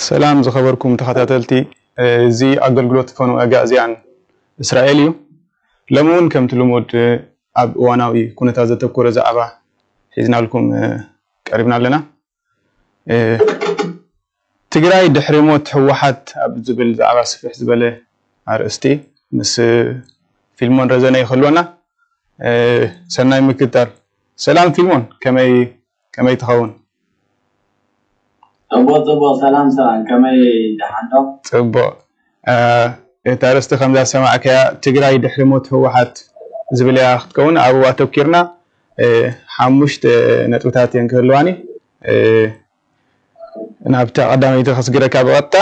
ሰላም ዝኸበርኩም ተኸታተልቲ፣ እዚ ኣገልግሎት ፈኑ ኣጋእዝያን እስራኤል እዩ። ሎሚ እውን ከምቲ ልሙድ ኣብ እዋናዊ ኩነታት ዘተኮረ ዛዕባ ሒዝናልኩም ቀሪብና ኣለና። ትግራይ ድሕሪ ሞት ህወሓት ኣብ ዝብል ዛዕባ ስፍሕ ዝበለ ኣርእስቲ ምስ ፊልሞን ረዘነ ይኸልወና። ሰናይ ምክትታል። ሰላም ፊልሞን፣ ከመይ ከመይ ትኸውን? ጽቡቕ ጽቡቕ። ሰላም ሰላም፣ ከመይ ደሓን ዶ? ጽቡቕ። እታ ኣርእስቲ ከምዛ ዝሰማዕካያ ትግራይ ድሕሪ ሞት ህወሓት ዝብል እያ ክትከውን። ኣብኡ ኣተኪርና ሓሙሽተ ነጥብታት እየን ክህልዋኒ። ናብታ ቀዳመይቲ ከስግረካ ብቐጥታ።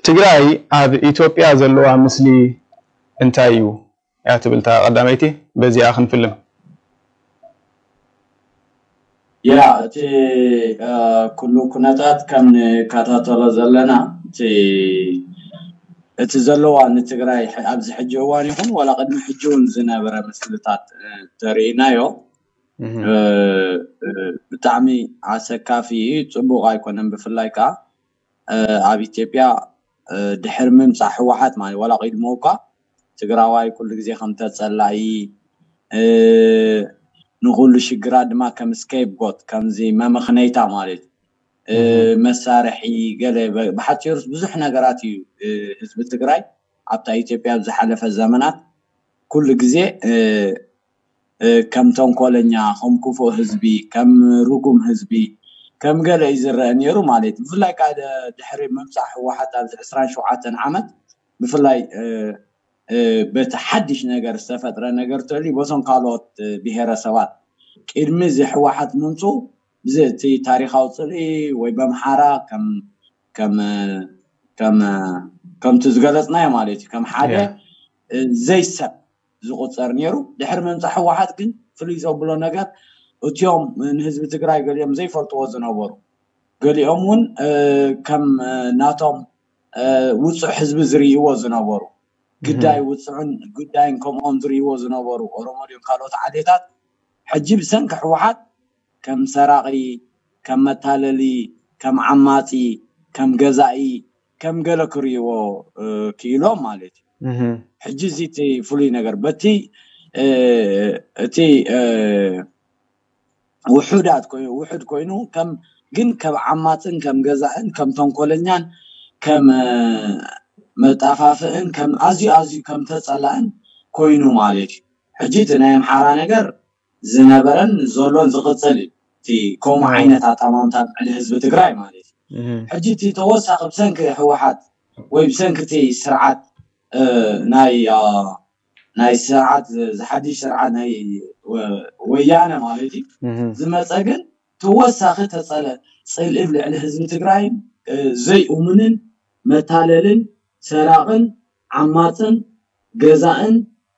ትግራይ ኣብ ኢትዮጵያ ዘለዋ ምስሊ እንታይ እዩ? እያ ትብል እታ ቀዳመይቲ። በዚኣ ክንፍልም። ያ እቲ ኩሉ ኩነታት ከም ንከታተሎ ዘለና እቲ እቲ ዘለዋ ንትግራይ ኣብዚ ሕጂ እዋን ይኹን ዋላ ቅድሚ ሕጂ እውን ዝነበረ ምስልታት ተርእናዮ ብጣዕሚ ኣሰካፊ እዩ። ፅቡቅ ኣይኮነን። ብፍላይ ከዓ ኣብ ኢትዮጵያ ድሕሪ ምምፃእ ህወሓት ማለት ዋላ ቅድሞ እኳ ትግራዋይ ኩሉ ግዜ ከም ተፀላኢ ንኩሉ ሽግራት ድማ ከም scapegoat ከምዚ መመክነይታ ማለት መሳርሒ ገለ ብሓፂሩስ ብዙሕ ነገራት እዩ ህዝቢ ትግራይ ኣብታ ኢትዮጵያ ኣብ ዝሓለፈ ዘመናት ኩሉ ግዜ ከም ተንኮለኛ ከም ክፉእ ህዝቢ ከም ርጉም ህዝቢ ከም ገለ እዩ ዝረአ ነይሩ ማለት እዩ። ብፍላይ ከዓ ድሕሪ ምምፃእ ህወሓት ኣብዚ ዕስራን ሸውዓተን ዓመት ብፍላይ በቲ ሓድሽ ነገር ዝተፈጥረ ነገር ተልዩ በቶም ካልኦት ብሄረሰባት ቅድሚ እዚ ህወሓት ምምፅኡ ብዚ እቲ ታሪካዊ ፅልኢ ወይ በምሓራ ከም ከም ከም ከምቲ ዝገለፅናዮ ማለት እዩ ከም ሓደ ዘይሰብ ዝቁፀር ነይሩ። ድሕሪ ምምፃእ ህወሓት ግን ፍሉይ ዘብሎ ነገር እቲኦም ንህዝቢ ትግራይ ገሊኦም ዘይፈልጥዎ ዝነበሩ ገሊኦም እውን ከም ናቶም ውፁዕ ህዝቢ ዝርእይዎ ዝነበሩ ግዳይ ውፁዕን ግዳይን ከምኦም ዝርእይዎ ዝነበሩ ኦሮሞ ድዮም ካልኦት ዓሌታት ሕጂ ብሰንኪ ህወሓት ከም ሰራቒ፣ ከም መታለሊ፣ ከም ዓማፂ፣ ከም ገዛኢ፣ ከም ገለ ክርእይዎ ክኢሎም ማለት እዩ። ሕጂ እዚ እቲ ፍሉይ ነገር በቲ እቲ ውሑዳት ውሑድ ኮይኑ ከም ግን ከም ዓማፅን ከም ገዛእን ከም ተንኮለኛን ከም መጣፋፍእን ከም ኣዝዩ ኣዝዩ ከም ተፀላእን ኮይኑ ማለት እዩ። ሕጂ እቲ ናይ ኣምሓራ ነገር ዝነበረን ዘሎን ዝቕፅል እዩ። እቲ ከምኡ ዓይነት ኣጠማምታ ልዕሊ ህዝቢ ትግራይ ማለት እዩ። ሕጂ እቲ ተወሳኺ ብሰንኪ ህወሓት ወይ ብሰንኪ እቲ ስርዓት ናይ ናይ ስርዓት ዝሓድሽ ስርዓት ናይ ወያነ ማለት እዩ ዝመፀ ግን ተወሳኺ ተፀለ ፅልኢ ልዕሊ ህዝቢ ትግራይን ዘይእሙንን መታለልን ሰራቕን ዓማፅን ገዛእን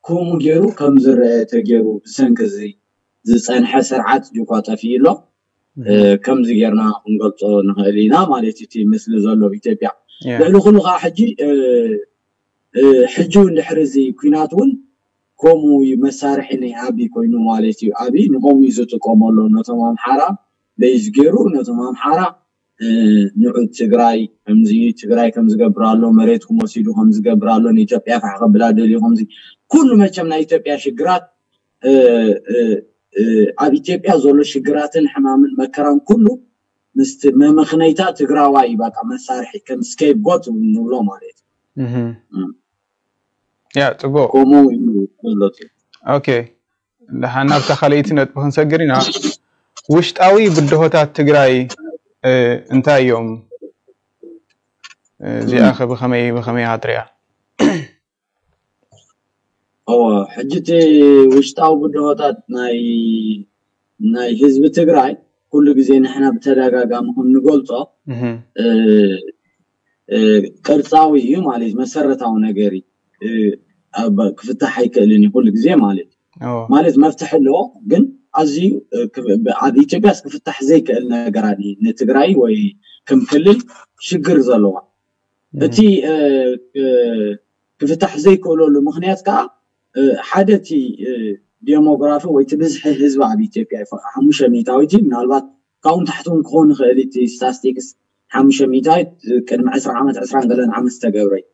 ከምኡ ገይሩ ከም ዝረአ ተገይሩ ብሰንኪ እዚ ዝፀንሐ ስርዓት ጅኳ ጠፊኡ ኣሎ። ከምዚ ጌርና ክንገልፆ ንኽእል ኢና ማለት እቲ ምስሊ ዘሎ ኣብ ኢትዮጵያ። ልዕሊ ኩሉ ከዓ ሕጂ ሕጂ እውን ድሕሪ እዚ ኲናት እውን ከምኡ እዩ መሳርሒ ናይ ኣብይ ኮይኑ ማለት እዩ። ኣብይ ንኸምኡ እዩ ዝጥቀመሎም ነቶም ኣምሓራ በይዝ ገይሩ ነቶም ኣምሓራ ንዑ ትግራይ ከምዚ ትግራይ ከምዝገብር ኣሎ መሬትኩም ወሲዱ ከምዝገብር ኣሎ ንኢትዮጵያ ፋሕ ከብላ ደልዩ ከምዚ ኩሉ መቸም ናይ ኢትዮጵያ ሽግራት ኣብ ኢትዮጵያ ዘሎ ሽግራትን ሕማምን መከራን ኩሉ ምስቲ መመኽነይታ ትግራዋይ እዩ በቃ መሳርሒ ከም scapegoat ንብሎ ማለት እዩ። ያ ጽቡቅ ከምኡ እዩ ዘሎ። ኦኬ ደሓን ናብታ ካልኣይቲ ነጥቢ ክንሰግር ኢና። ውሽጣዊ ብድሆታት ትግራይ እንታይ እዮም? እዚኣ ከ ብኸመይ ብኸመይ ኢኻ ትሪኣ? እወ ሕጂ እቲ ውሽጣዊ ብድሆታት ናይ ናይ ህዝቢ ትግራይ ኩሉ ግዜ ንሕና ብተደጋጋሚ ከም ንገልፆ ቅርፃዊ እዩ ማለት መሰረታዊ ነገር እዩ። ክፍታሕ ኣይክእልን እዩ ኩሉ ግዜ ማለት ማለት መፍትሒ ኣለዎ። ግን ኣዝዩ ኣብ ኢትዮጵያስ ክፍታሕ ዘይክእል ነገራት እዩ ንትግራይ ወይ ከም ክልል ሽግር ዘለዋ እቲ ክፍታሕ ዘይክእለሉ ምክንያት ከዓ ሓደ እቲ ዴሞግራፊ ወይ እቲ ብዝሒ ህዝቢ ኣብ ኢትዮጵያ እዩ ሓሙሽተ ሚእታዊት ምናልባት ካብኡ ንታሕቲ እውን ክኸውን ይኽእል እቲ statistics ሓሙሽተ ሚእታዊት ቅድሚ ዕስራ ዓመት፣ ዕስራን ገለን ዓመት ዝተገብረ እዩ።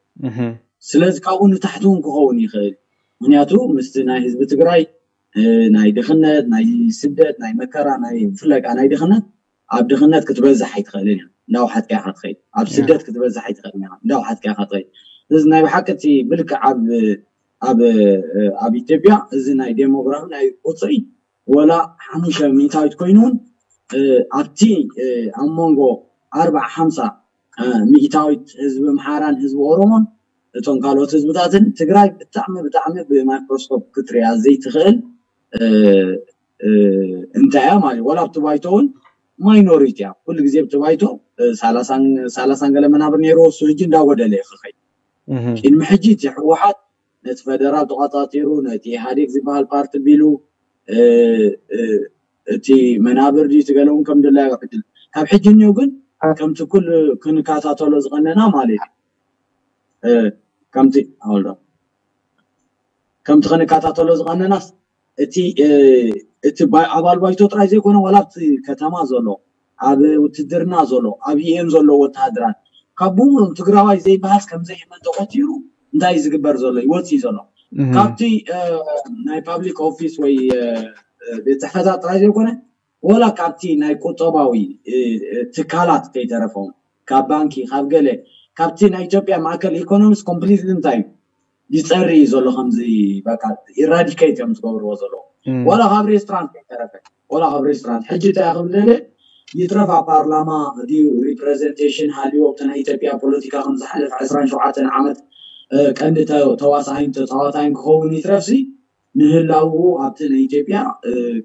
ስለዚ ካብኡ ንታሕቲ እውን ክኸውን ይኽእል። ምክንያቱ ምስቲ ናይ ህዝቢ ትግራይ ናይ ድኽነት፣ ናይ ስደት፣ ናይ መከራ፣ ናይ ፍለጋ ናይ ድኽነት፣ ኣብ ድኽነት ክትበዝሕ ኣይትኽእልን እያ። እንዳውሓጥካ ኢኻ ትኸይድ። ኣብ ስደት ክትበዝሕ ኣይትኽእልን እያ። እንዳውሓጥካ ኢኻ ትኸይድ። እዚ ናይ ብሓቂ እቲ ብልክዕ ኣብ ኣብ ኣብ ኢትዮጵያ እዚ ናይ ዴሞግራፊ ናይ ቁፅሪ ወላ ሓሙሽተ ሚእታዊት ኮይኑ እውን ኣብቲ ኣብ መንጎ ኣርባዓ ሓምሳ ሚእታዊት ህዝቢ ኣምሓራን ህዝቢ ኦሮሞን እቶም ካልኦት ህዝብታትን ትግራይ ብጣዕሚ ብጣዕሚ ብማይክሮስኮፕ ክትሪኣ ዘይትኽእል እንታይ እያ ማለት እዩ። ወላ ኣብቲ ባይቶ እውን ማይኖሪቲ እያ። ኩሉ ግዜ ኣብቲ ባይቶ ሳላሳን ገለ መናብር ነይርዎ፣ እሱ ሕጂ እንዳጎደለ እዩ ክኸይድ። ቅድሚ ሕጂ እቲ ህወሓት ነቲ ፈደራል ተቋፃፂሩ፣ ነቲ ኢህኣዴግ ዝበሃል ፓርቲ ቢሉ እቲ መናብር ድዩ ትገለውን ከም ድላዩ ዕድል ካብ ሕጂ እኒኦ ግን ከምቲ ኩሉ ክንከታተሎ ዝቐነና ማለት እዩ። ከምቲ ከምቲ ክንከታተሎ ዝቐነናስ እቲ እቲ ኣባል ባይቶ ጥራይ ዘይኮነ ዋላ ኣብቲ ከተማ ዘሎ ኣብ ውትድርና ዘሎ ኣብ ዩኤን ዘሎ ወተሃደራት ካብ ብምሉም ትግራዋይ ዘይበሃስ ከምዘይመን ተቆፂሩ እንታይ ዝግበር ዘሎ ይወፅእ ዘሎ ካብቲ ናይ ፓብሊክ ኦፊስ ወይ ቤት ፅሕፈታት ጥራይ ዘይኮነ ወላ ካብቲ ናይ ቁጠባዊ ትካላት ከይተረፎም ካብ ባንኪ ካብ ገለ ካብቲ ናይ ኢትዮጵያ ማእከል ኢኮኖሚስ ኮምፕሊትሊ እንታይ እዩ ይፀሪ እዩ ዘሎ ከምዚ በቃ ኢራዲኬት እዮም ዝገብርዎ ዘለዉ ዋላ ካብ ሬስቶራንት ከይተረፈ ዋላ ካብ ሬስቶራንት ሕጂ እንታይ ክብል ደለ ይትረፍ ኣብ ፓርላማ ድዩ ሪፕሬዘንቴሽን ሃልዎ ኣብቲ ናይ ኢትዮጵያ ፖለቲካ ከም ዝሓለፈ ዕስራን ሸውዓተን ዓመት ቀንዲ ተዋሳኣይን ተፃዋታይን ክኸውን ይትረፍሲ ምህላውኡ ኣብቲ ናይ ኢትዮጵያ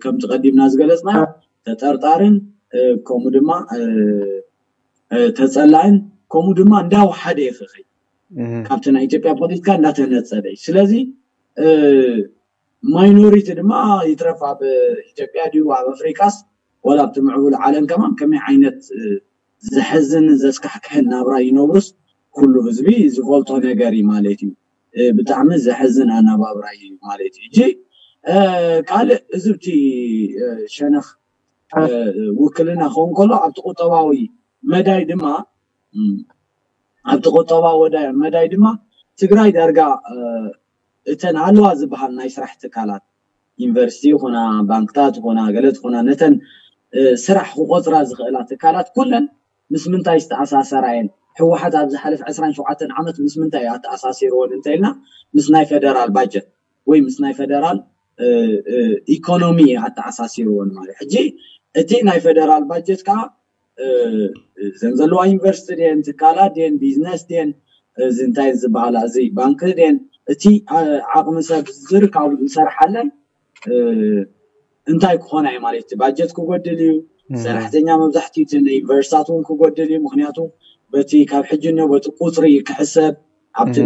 ከምቲ ቀዲምና ዝገለፅና ተጠርጣርን ከምኡ ድማ ተፀላእን ከምኡ ድማ እንዳወሓደ ይኽኽይ ካብቲ ናይ ኢትዮጵያ ፖለቲካ እንዳተነፀለ እዩ ስለዚ ማይኖሪቲ ድማ ይትረፍ ኣብ ኢትዮጵያ ድዩ ኣብ ኣፍሪቃስ ወላ ኣብቲ ምዕቡል ዓለም ከማን ከመይ ዓይነት ዘሕዝን ዘስካሕክሕን ናብራ ይነብሩስ ኩሉ ህዝቢ ዝፈልጦ ነገር እዩ ማለት እዩ ብጣዕሚ ዘሕዝን ኣነባብራ እዩ ማለት እዩ እጂ ካልእ እዝብቲ ሸነኽ ውክልና ክኸውን ከሎ ኣብቲ ቁጠባዊ መዳይ ድማ ኣብቲ ቁጠባዊ መዳይ ድማ ትግራይ ዳርጋ እተን ኣለዋ ዝበሃል ናይ ስራሕ ትካላት ዩኒቨርሲቲ ይኹና ባንክታት ይኹና ገለ ትኹና ነተን ስራሕ ክቆፅራ ዝኽእላ ትካላት ኩለን ምስ ምንታይ ዝተኣሳሰራ እየን ህወሓት ኣብ ዝሓለፍ ዕስራን ሸውዓተን ዓመት ምስ ምንታይ ኣተኣሳሲርዎን እንተኢልና ምስ ናይ ፌደራል ባጀት ወይ ምስ ናይ ፌደራል ኢኮኖሚ ኣተኣሳሲርዎን ማለት ሕጂ እቲ ናይ ፌደራል ባጀት ከዓ ዘን ዘለዋ ዩኒቨርሲቲ ድን ትካላት ድን ቢዝነስ ድን እዚ እንታይ ዝበሃላ እዚ ባንክ ድን እቲ ዓቕሚ ሰብ ዝርካቡ ዝሰርሓለን እንታይ ክኾና እዩ ማለት እዩ ባጀት ክጎድል እዩ ሰራሕተኛ መብዛሕትኡ እቲ ዩኒቨርሲታት እውን ክጎድል እዩ ምክንያቱ በቲ ካብ ሕጂ ኒ በቲ ቁፅሪ ክሕሰብ ኣብቲ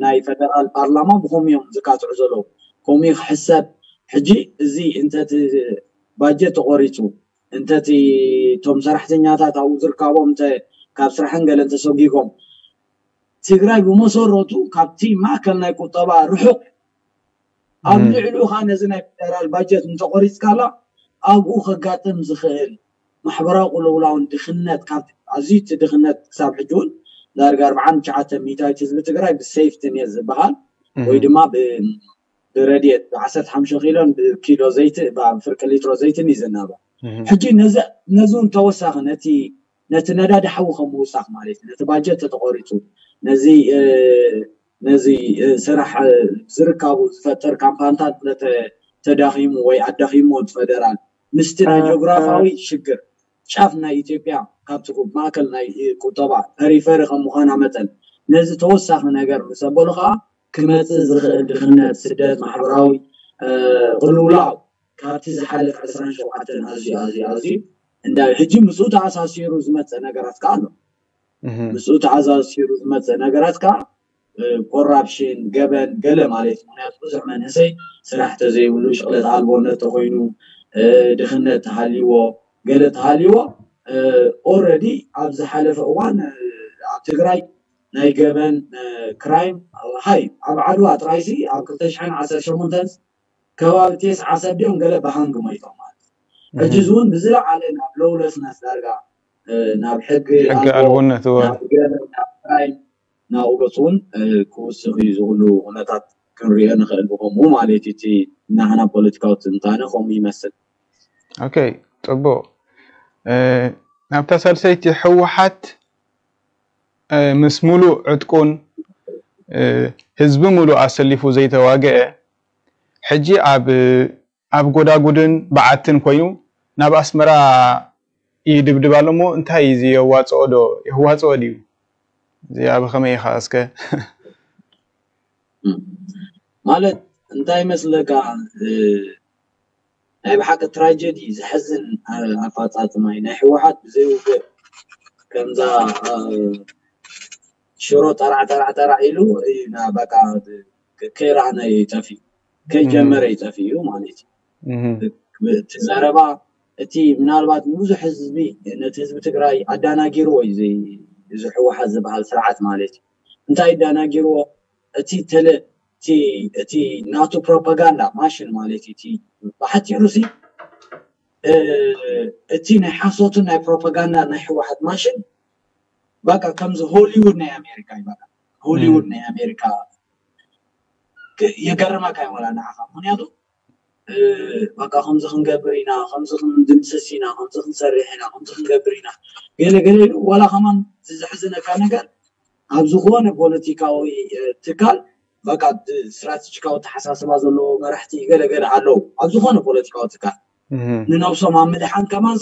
ናይ ፌደራል ፓርላማ ብከምኡ እዮም ዝካትዑ ዘለዉ ከምኡ ክሕሰብ ሕጂ እዚ እንተቲ ባጀት ተቆሪፁ እንተቲ እቶም ሰራሕተኛታት ኣብኡ ዝርካቦም እንተ ካብ ስራሕን ገለን ተሰጊጎም ትግራይ ብመሰረቱ ካብቲ ማእከል ናይ ቁጠባ ርሑቕ ኣብ ልዕሉ ካ ነዚ ናይ ፌደራል ባጀት እንተቆሪፅካላ ኣብኡ ከጋጥም ዝኽእል ማሕበራዊ ቅልውላውን ድኽነት ካብ ኣዝዩ እቲ ድኽነት ክሳብ ሕጂ እውን ዳርጋ ኣርባዓን ትሽዓተ ሚእታዊት ህዝቢ ትግራይ ብሴፍቲ ኔት ዝበሃል ወይ ድማ ብረድኤት ብዓሰርተ ሓሙሽተ ኪሎን ብኪሎ ዘይቲ ብፍርቂ ሊትሮ ዘይትን እዩ ዝናበር ሕጂ ነዚ እውን ተወሳኺ ነቲ ነቲ ነዳዲ ሓዊ ከም ምውሳኽ ማለት እዩ ነቲ ባጀት ተተቆሪፁ ነዚ ነዚ ስራሕ ዝርካቡ ዝፈጥር ካምፓንታት ተዳኺሙ ወይ ኣዳኺሙ እቲ ፈደራል ምስቲ ናይ ጂኦግራፋዊ ሽግር ጫፍ ናይ ኢትዮጵያ ካብቲ ማእከል ናይ ቁጠባ ፐሪፈሪ ከም ምዃና መጠን ነዚ ተወሳኺ ነገር ምስ ኣበሉ ከዓ ክመፅእ ዝኽእል ድኽነት ስደት ማሕበራዊ ቅልውላው ካብቲ ዝሓለፍ ዕስራን ሸውዓተን ኣዝዩ ኣዝዩ ኣዝዩ እንዳ ሕጂ ምስኡ ተኣሳሲሩ ዝመፀ ነገራት ከዓ ኣሎ ምስኡ ተኣሳሲሩ ዝመፀ ነገራት ከዓ ኮራፕሽን ገበን ገለ ማለት ምክንያቱ ብዙሕ መንእሰይ ስራሕ ተዘይብሉ ሽቕለት ኣልቦነት ተኮይኑ ድኽነት ተሃልይዎ ገለ ተሃልይዎ ኦረዲ ኣብ ዝሓለፈ እዋን ኣብ ትግራይ ናይ ገበን ክራይም ሃይ ኣብ ዓድዋ ጥራይሲ ኣብ ክልተ ሽሕን ዓሰርተ ሸሞንተን ከባቢ ቴስዓ ሰብ ድዮም ገለ ብሃንግ ሞይቶም ማለት ሕጂ እዚ እውን ብዝለዓለ ናብ ለውለስነስ ዳርጋ ናብ ሕጊ ሕጊ ኣልቦነት እወ ናብ ገበን፣ ናብ ክራይም፣ ናብኡ ገፅ እውን ክውስኽ እዩ። ዝብሉ ኩነታት ክንሪኦ ንኽእል። ብከምኡ ማለት እዩ እቲ ናህና ፖለቲካዊ ትንታነ ከምኡ ይመስል። ኦኬ፣ ፅቡቅ። ናብታ ሳልሰይቲ፣ ህወሓት ምስ ሙሉእ ዕጥቁን ህዝቢ ሙሉእ ኣሰሊፉ ዘይተዋገአ፣ ሕጂ ኣብ ኣብ ጎዳጉድን በዓትን ኮይኑ ናብ ኣስመራ ይድብድብ ኣሎ እሞ፣ እንታይ እዩ እዚ? የዋፅኦ ዶ? የዋፅኦ ድዩ? እዚ ኣብ ከመይ ኢኻ እስከ? ማለት እንታይ ይመስለካ፣ ናይ ብሓቂ ትራጀዲ፣ ዘሕዝን ኣፋፃፅማ እዩ ናይ ህወሓት። ብዘይ ውግእ ከምዛ ሽሮ ጠራዕ ጠራዕ ጠራዕ ኢሉ እዩ በቃ ከይረኣነ ይጠፍእ፣ ከይጀመረ ይጠፍእ እዩ ማለት እዩ። እቲ ዘረባ፣ እቲ ምናልባት ንብዙሕ ህዝቢ፣ ነቲ ህዝቢ ትግራይ ኣዳናጊርዎ እዩ እዚ ህወሓት ዝበሃል ስርዓት ማለት እዩ። እንታይ ኣዳናጊርዎ? እቲ ተለ እቲ ናቱ ፕሮፓጋንዳ ማሽን ማለት እዩ። እቲ ብሓፂሩ ሲ እቲ ናይ ሓሶትን ናይ ፕሮፓጋንዳ ናይ ህወሓት ማሽን በቃ ከምዚ ሆሊውድ ናይ ኣሜሪካ እዩ። በቃ ሆሊውድ ናይ ኣሜሪካ የገርመካ ይወላ ንዓኻ። ምክንያቱ በቃ ከምዚ ክንገብር ኢና፣ ከምዚ ክንድምስስ ኢና፣ ከምዚ ክንሰርሕ ኢና፣ ከምዚ ክንገብር ኢና፣ ገለ ገለ ኢሉ። ዋላ ከማን ዘሕዝነካ ነገር፣ ኣብ ዝኾነ ፖለቲካዊ ትካል በቃ ስትራቴጂካዊ ተሓሳስባ ዘለዎ መራሕቲ ገለገለ ኣለዉ። ኣብ ዝኾነ ፖለቲካዊ ትካል ንነብሶም ኣብ ምድሓን ከማን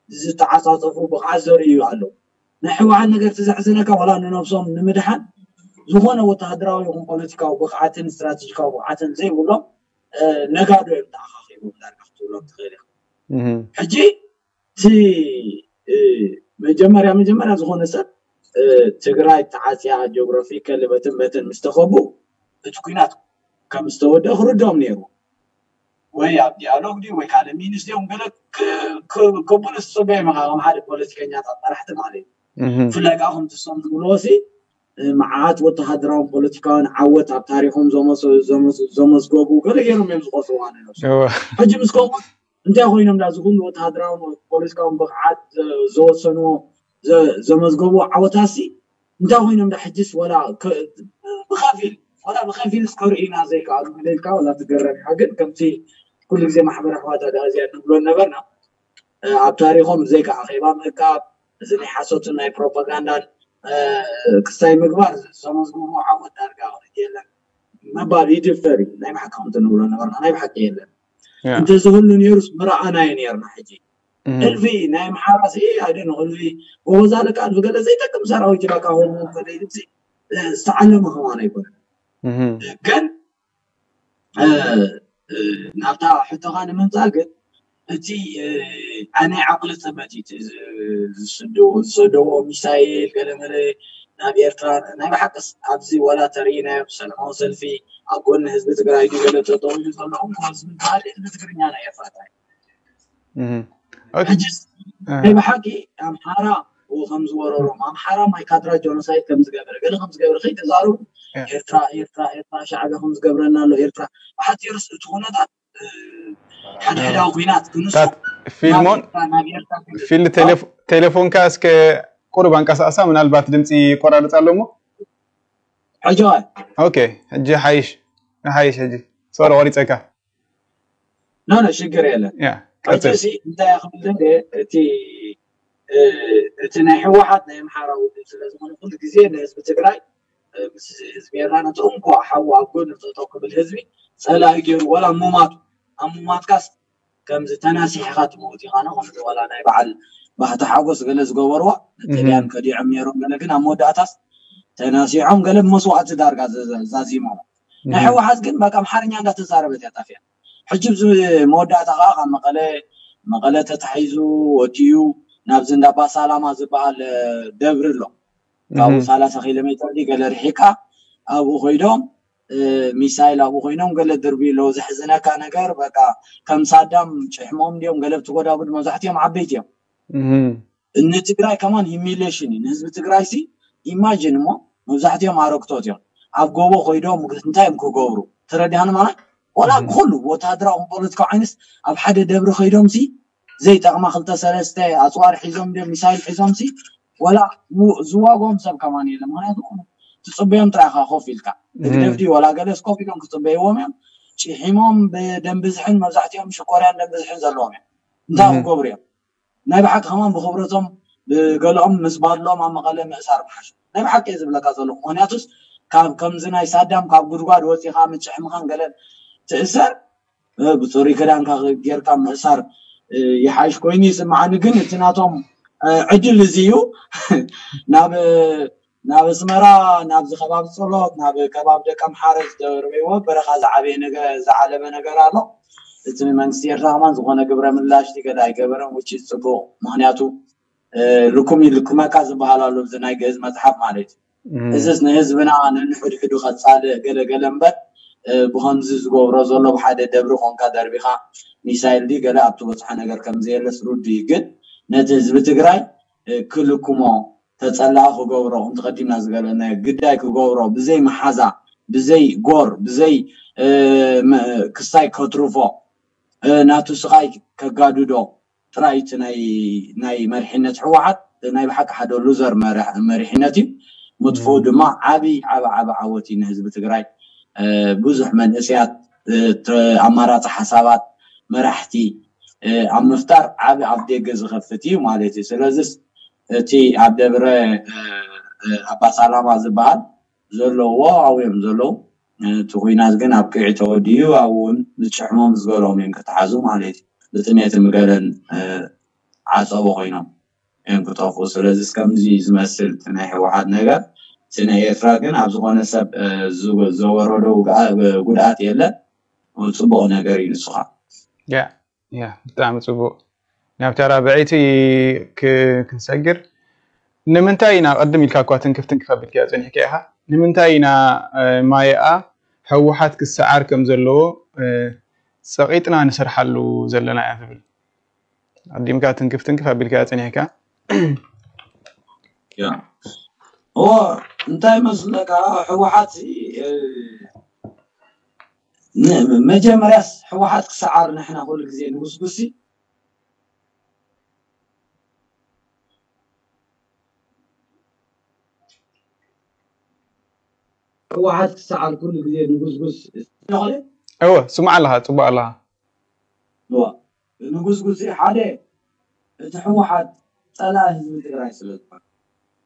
ዝተዓፃፀፉ ብቕዓት ዘርእዩ ኣለዉ። ናይ ህወሓት ነገር፣ እቲ ዘሕዝነካ፣ ዋላ ንነብሶም ንምድሓን ዝኾነ ወተሃደራዊ ይኹን ፖለቲካዊ ብቕዓትን ስትራቴጂካዊ ብቕዓትን ዘይብሎም ነጋዶ እዮም ተኣኻኺቦም ዳርጋ ክትብሎም ትኽእል ኢኻ። ሕጂ እቲ መጀመርያ መጀመርያ ዝኾነ ሰብ ትግራይ ተዓፅያ፣ ጂኦግራፊ ከልበትን በትን ምስ ተኸቡ፣ እቲ ኲናት ከም ዝተወደአ ክርድኦም ነይሩ። ወይ ኣብ ዲያሎግ ድዩ ወይ ካልእ ሚኒስ ድዮም ገለ ከብሉ ዝፅበዩ መኻ ከም ሓደ ፖለቲከኛታት መራሕቲ ማለት እዩ። ብፍላይ ከዓ ከምቲ እሶም ዝብልዎ ሲ መዓት ወተሃደራውን ፖለቲካውን ዓወት ኣብ ታሪኮም ዘመዝገቡ ገለ ገይሮም እዮም ዝቆፅርዋ ነብሶም። ሕጂ ምስ ከምኡ እንታይ ኮይኖም ዳ ዝኩሉ ወተሃደራውን ፖለቲካውን ብቕዓት ዘወሰንዎ ዘመዝገቡ ዓወታት ሲ እንታይ ኮይኖም ዳ ሕጅስ ወላ ብከፊል ወላ ብከፊል እስከ ርኢና ዘይከኣሉ ኢልካ ወላ ትገረም ኢኻ። ግን ከምቲ ኩሉ ግዜ ማሕበረ ኣሕዋት ኣጋኣዝያን ንብሎ ነበርና፣ ኣብ ታሪኮም ብዘይካ ኣኼባ ምእካብ፣ እዚ ናይ ሓሶትን ናይ ፕሮፓጋንዳን ክስታይ ምግባር ዘመዝግብዎ ዓወት ዳርጋ የለን ምባል ይድፈር እዩ። ናይ ብሓቂ ከምቲ ንብሎ ነበርና ናይ ብሓቂ የለን። እንተዝህሉ ነይሩስ ምረኣናዮ ነርና። ሕጂ እልፊ ናይ ኣምሓራ ሲ ኣይደን እልፊ ጎበዝ ኣለቃ እልፊ ገለ ዘይጠቅም ሰራዊት ኢላካ ሆርሞን ከደይ ልብሲ ዝተዓለመ ከማን ኣይኮነን። ግን ናብታ ሕቶኻ ንምምፃእ ግን እቲ ናይ ዓቕሊ ፅበት እዩ ዝሰደዎ ሚሳይል ገለመለ ናብ ኤርትራ ናይ ብሓቅስ ኣብዚ ወላ ተርእናዮም ሰላማዊ ሰልፊ ኣብ ጎኒ ህዝቢ ትግራይ ድዩ ገለ ጠጠው ኢሉ ዘለኹም ህዝቢ ትግራይ ህዝቢ ትግርኛ ናይ ኤርትራ ጥራይ ሕጅስ ናይ ብሓቂ ኣምሓራ ከም ዝወረሮም ኣምሓራ ማይ ካድራ ጆኖሳይድ ከም ዝገበረ ገለ ከም ዝገበረ ከይተዛረቡ ኤርትራ ኤርትራ ኤርትራ ሻዕብያ ከም ዝገብረና ኣሎ ኤርትራ ብሓፂሩስ እቲ ኩነታት ሓድሕዳዊ ኩናት ክንሱ ፊልሞን ፊል ቴሌፎንካ እስከ ቁሩብ ኣንቀሳቅሳ ምናልባት ድምፂ ይቆራርፅ ኣሎ እሞ ሕጂ ኦኬ ሕጂ ሓይሽ ሓይሽ ሕጂ ሶሪ ቆሪፀካ ኖ ኖ ሽግር የለን። ቀጥል። ሕጂ እንታይ ክብል ደልየ እቲ እቲ ናይ ህወሓት ናይ ኣምሓራ ውድብ ስለ ዝኾነ ኩሉ ግዜ ንህዝቢ ትግራይ ምስ ህዝቢ ኤርትራ ነቲ እንኳ ሓዉ ኣብ ጎኒ ጠጠው ክብል ህዝቢ ፀላኢ ገይሩ ዋላ ሙማቱ ኣብ ሙማትካስ ከምዚ ተናሲሕኻ ትመውት ኢኻ ነ ከምዚ ዋላ ናይ በዓል ባህቲ ሓጎስ ገለ ዝገበርዋ ንጥልያን ከዲዖም ነይሮም ገለ ግን ኣብ መወዳእታስ ተናሲሖም ገለ ብመስዋእቲ ዳርጋ ዛዚሞም ናይ ህወሓት ግን በቃ ኣምሓርኛ እንዳተዛረበት እያ ጣፍያ ሕጂ ብዚ መወዳእታ ከዓ ካብ መቐለ መቐለ ተታሒዙ ወዲኡ ናብዚ እንዳ ባሳላማ ዝበሃል ደብሪ ኣሎ ካብኡ ሰላሳ ኪሎ ሜትር ገለ ርሒቃ ኣብኡ ኮይዶም ሚሳይል ኣብኡ ኮይኖም ገለ ድርቢ ኣለዉ ዘሕዝነካ ነገር በቃ ከም ሳዳም ጭሕሞም እንዲዮም ገለ ብትጎዳጉድ መብዛሕትኦም ዓበይቲ እዮም ንትግራይ ከማን humiliation እዩ ንህዝቢ ትግራይ ሲ imagine እሞ መብዛሕትኦም ኣረግቶት እዮም ኣብ ጎቦ ኮይዶም እንታይ እዮም ክገብሩ ተረዲሃኒ ማለት ዋላ ኩሉ ወታደራዊ ፖለቲካዊ ዓይንስ ኣብ ሓደ ደብሪ ከይዶም ሲ ዘይጠቕማ ክልተ ሰለስተ ኣፅዋር ሒዞም ድዮም ሚሳይል ሒዞም ሲ ወላ ው- ዝዋጎም ሰብ ከማን የለ። ምክንያቱ ትፅበዮም ጥራይ ኢኻ ኮፍ ኢልካ ህግደፍ ድዩ ወላ ገለስ ኮፍ ኢሎም ክፅበይዎም እዮም። ጭሒሞም ብደም ብዝሕን መብዛሕትኦም ሽኮርያን ደም ብዝሕን ዘለዎም እዮም። እንታይ ክገብሩ እዮም? ናይ ብሓቂ ከማን ብክብረቶም ብገለኦም ምስ ባድሎም ኣብ መቐለ ምእሳር ምሓሽ። ናይ ብሓቂ እየ ዝብለካ ዘለኹ። ምክንያቱስ ካብ ከምዚ ናይ ሳዳም ካብ ጉድጓድ ወፂኻ ምጭሕምኻን ገለን ትእሰር ብፅሩይ ክዳንካ ጌርካ ምእሳር ይሓይሽ ኮይኑ ይስምዓኒ። ግን እቲ ናቶም ዕድል እዚ እዩ። ናብ ናብ ኣስመራ ናብዚ ከባቢ ጸሎት ናብ ከባቢ ደቀምሓረ ዝተርበይዎ በረኻ ዝዓበየ ነገር ዝዓለበ ነገር ኣሎ። እቲ መንግስቲ ኤርትራ ከማን ዝኾነ ግብረ ምላሽ ገለ ኣይገበረን። ውጭ ጽቡቕ ምክንያቱ ልኩም ይልክመካ ዝበሃል ኣሎ እዚ ናይ ግእዝ መጽሓፍ ማለት እዩ። እዝስ ንህዝብና ነንሕድሕዱ ከጻልእ ገለገለ እምበር ብኸምዚ ዝገብሮ ዘሎ ብሓደ ደብሪ ኮንካ ደርቢኻ ሚሳይል ዲ ገለ ኣብ ትበጽሖ ነገር ከም ዘየለስ ርዱ እዩ። ግን ነቲ ህዝቢ ትግራይ ክልክሞ ተጸላኢ ክገብሮ እንተቐዲምና ዝገለናዮ ግዳይ ክገብሮ ብዘይ መሓዛ ብዘይ ጎር ብዘይ ክሳይ ከትርፎ ናቱ ስቓይ ከጋድዶ ጥራይ እቲ ናይ ናይ መሪሕነት ህወሓት ናይ ብሓቂ ሓደ ሉዘር መሪሕነት እዩ። ምጥፍኡ ድማ ዓብይ ዓብ ዓብ ዓወት እዩ ንህዝቢ ትግራይ። ብዙሕ መንእስያት ኣማራፂ ሓሳባት መራሕቲ ኣብ ምፍጣር ዓብ ኣብ ደገ ዝኸፍት እዩ ማለት እዩ። ስለዚስ እቲ ኣብ ደብረ ኣባሳላማ ዝበሃል ዘለዎ ኣብኡ እዮም ዘለዉ። እቲ ኩናት ግን ኣብ ቅዒ ተወዲኡ ኣብኡ እውን ዝጭሕሞም ዝገለኦም እዮም ክተሓዙ ማለት እዩ። ብጥሜት ምግለን ዓፀቦ ኮይኖም እዮም ክጠፍኡ። ስለዚ ከምዚ ዝመስል እቲ ናይ ህወሓት ነገር እቲ ናይ ኤርትራ ግን ኣብ ዝኾነ ሰብ ዘወረዶ ጉድኣት የለን። ፅቡቕ ነገር እዩ ንስኻ ያ ብጣዕሚ ፅቡቕ። ናብታ ራብዐይቲ ክንሰግር ንምንታይ ኢና ቅድም ኢልካ እኳ ትንክፍ ትንክፍ ኣቢልካ ፀኒሕካ ኢኻ ንምንታይ ኢና ማየኣ ህወሓት ክሰዓር ከም ዘለዎ ፀቒጥና ንሰርሓሉ ዘለና እያ ትብል ኣዲምካ ትንክፍ ትንክፍ ኣቢልካ ፀኒሕካ እንታይ መስለካ ህወሓት መጀመርያስ ህወሓት ክሰዓር ንሕና ኩሉ ግዜ ንጉስጉሲ ህወሓት ክሰዓር ኩሉ ግዜ ንጉስጉስ ስለኾነ እወ ስማዕ ኣለኻ ፅቡቅ ኣለኻ ንጉስጉስ ሓደ እቲ ህወሓት ፀላኢ ህዝቢ ትግራይ ስለ ዝኾነ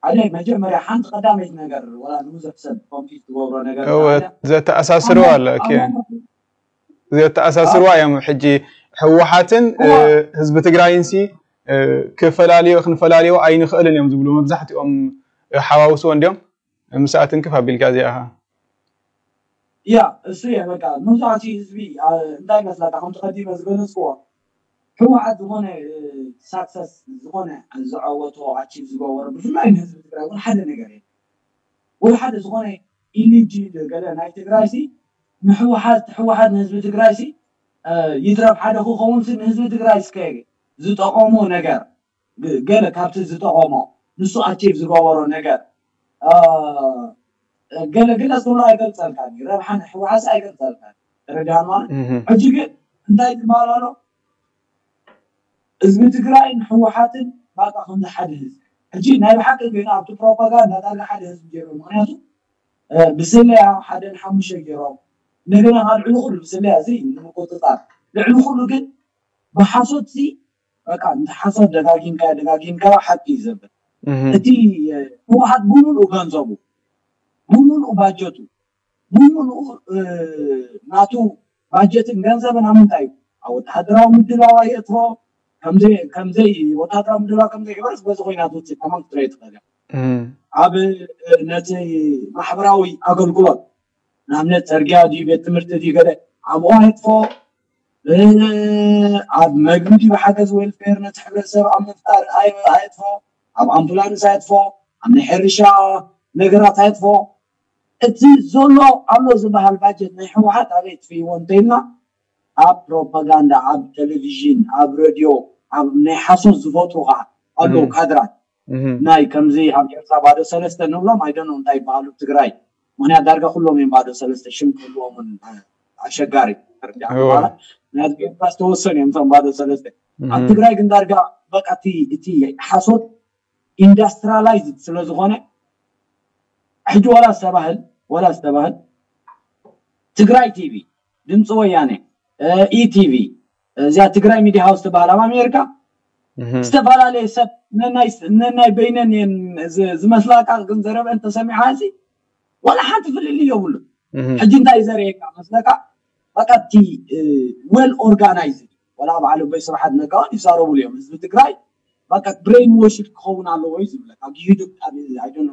ሓደ መጀመርያ ሓንቲ ቀዳመይቲ ነገር ወላ ንብዙሕ ሰብ ኮምፒት ትገብሮ ነገር እወ ዘተኣሳስርዋ ኣሎ ዘተኣሳስርዋ እዮም ሕጂ ህወሓትን ህዝቢ ትግራይን ሲ ክፈላልዮ ክንፈላልዮ ኣይንኽእልን እዮም ዝብሉ መብዛሕትኦም ሓዋውስዎ እንዲዮም ምሳኣ ትንክፍ ኣቢልካ እዚኣ ያ እሱ እየ በቃ መብዛሕትኡ ህዝቢ እንታይ መስለካ ከምቲ ቀዲመ ዝገለፅክዎ ህወሓት ዝኾነ ሳክሰስ ዝኾነ ዝዓወቶ ኣቺቭ ዝገበሮ ብፍላይ ንህዝቢ ትግራይ እውን ሓደ ነገር እዩ ወይ ሓደ ዝኾነ ኢሊጅ ገለ ናይ ትግራይ ሲ ንህወሓት ህወሓት ንህዝቢ ትግራይ ሲ ይትረፍ ሓደ ክኸውን ሲ ንህዝቢ ትግራይ እስከ ዝጠቐሞ ነገር ገለ ካብቲ ዝጠቐሞ ንሱ ኣቺቭ ዝገበሮ ነገር ገለ ግለፅ ክብሎ ኣይገልፀልካ ረብሓ ናይ ህወሓት ኣይገልፀልካ ተረዳን ማለት ሕጂ ግን እንታይ ዝበሃል ኣሎ ህዝቢ ትግራይን ህወሓትን ባቃ ከምዚ ሓደ ህዝቢ ሕጂ ናይ ብሓቂ ግን ኣብቲ ፕሮፓጋንዳ ዳርጋ ሓደ ህዝቢ ገይሮም ምክንያቱ ብስለያ ሓደ ንሓሙሽተ ገይሮም እንደገና ካብ ልዕሊ ኩሉ ብስለያ እዚ ንምቁፅፃር ልዕሊ ኩሉ ግን ብሓሶት ሲ በቃ ሓሶት ደጋጊምካ ደጋጊምካ ሓቂ እዩ ዘብል እቲ ህወሓት ብምሉእ ገንዘቡ ብምሉእ ባጀቱ ብምሉእ ናቱ ባጀትን ገንዘብን ኣብ ምንታይ እዩ ኣብ ወተሃደራዊ ምድላዋ የእትዎ ከምዘይ ወተሃደራዊ ምድላዋ ከምዘይገበረስ በዚ ኮይና ትውፅእ ከማን ክትረኢ ትኽእል እያ ኣብ ነቲ ማሕበራዊ ኣገልግሎት ንኣብነት ፅርግያ ድዩ ቤት ትምህርቲ ድዩ ገለ ኣብኡ ኣየጥፎ ኣብ መግቢ ድዩ ሓገዝ ዌልፌር ነቲ ሕብረተሰብ ኣብ ምፍጣር ኣየጥፎ ኣብ ኣምቡላንስ ኣየጥፎ ኣብ ናይ ሕርሻ ነገራት ኣየጥፎ እቲ ዘሎ ኣሎ ዝበሃል ባጀት ናይ ህወሓት ኣበይ ኣጥፍእዎ እንተኢልና ኣብ ፕሮፓጋንዳ ኣብ ቴሌቪዥን ኣብ ሬድዮ ኣብ ናይ ሓሶት ዝፈጥሩ ከዓ ኣለዉ ካድራት ናይ ከምዚ ኣብ ኤርትራ ባዶ ሰለስተ ንብሎም ኣይደኖ እንታይ ይበሃሉ ትግራይ ምክንያት ዳርጋ ኩሎም እዮም ባዶ ሰለስተ ሽም ክህልዎም እውን ኣሸጋሪ ናይ ኤርትራ ዝተወሰኑ እዮም እቶም ባዶ ሰለስተ ኣብ ትግራይ ግን ዳርጋ በቃ እቲ እቲ ሓሶት ኢንዳስትሪላይዝድ ስለ ዝኾነ ሕጂ ዋላ ዝተባህል ዋላ ዝተባህል ትግራይ ቲቪ፣ ድምፂ ወያነ፣ ኢቲቪ፣ እዚኣ ትግራይ ሚዲያ ሃውስ ትበሃል ኣብ ኣሜሪካ ዝተፈላለየ ሰብ ነናይ በይነን እየን ዝመስላካ ግን ዘረበን ተሰሚዓ እዚ ዋላ ሓንቲ ፍልልይ የብሉ። ሕጂ እንታይ ዘርእየካ መስለካ? በቃ እቲ ዌል ኦርጋናይዝድ ዋላ በዓል ኣቦይ ስብሓት ነጋ እውን ይዛረብሉ እዮም። ህዝቢ ትግራይ በቃ ብሬን ዎሽድ ክኸውን ኣለዎ እዩ ዝብለካ።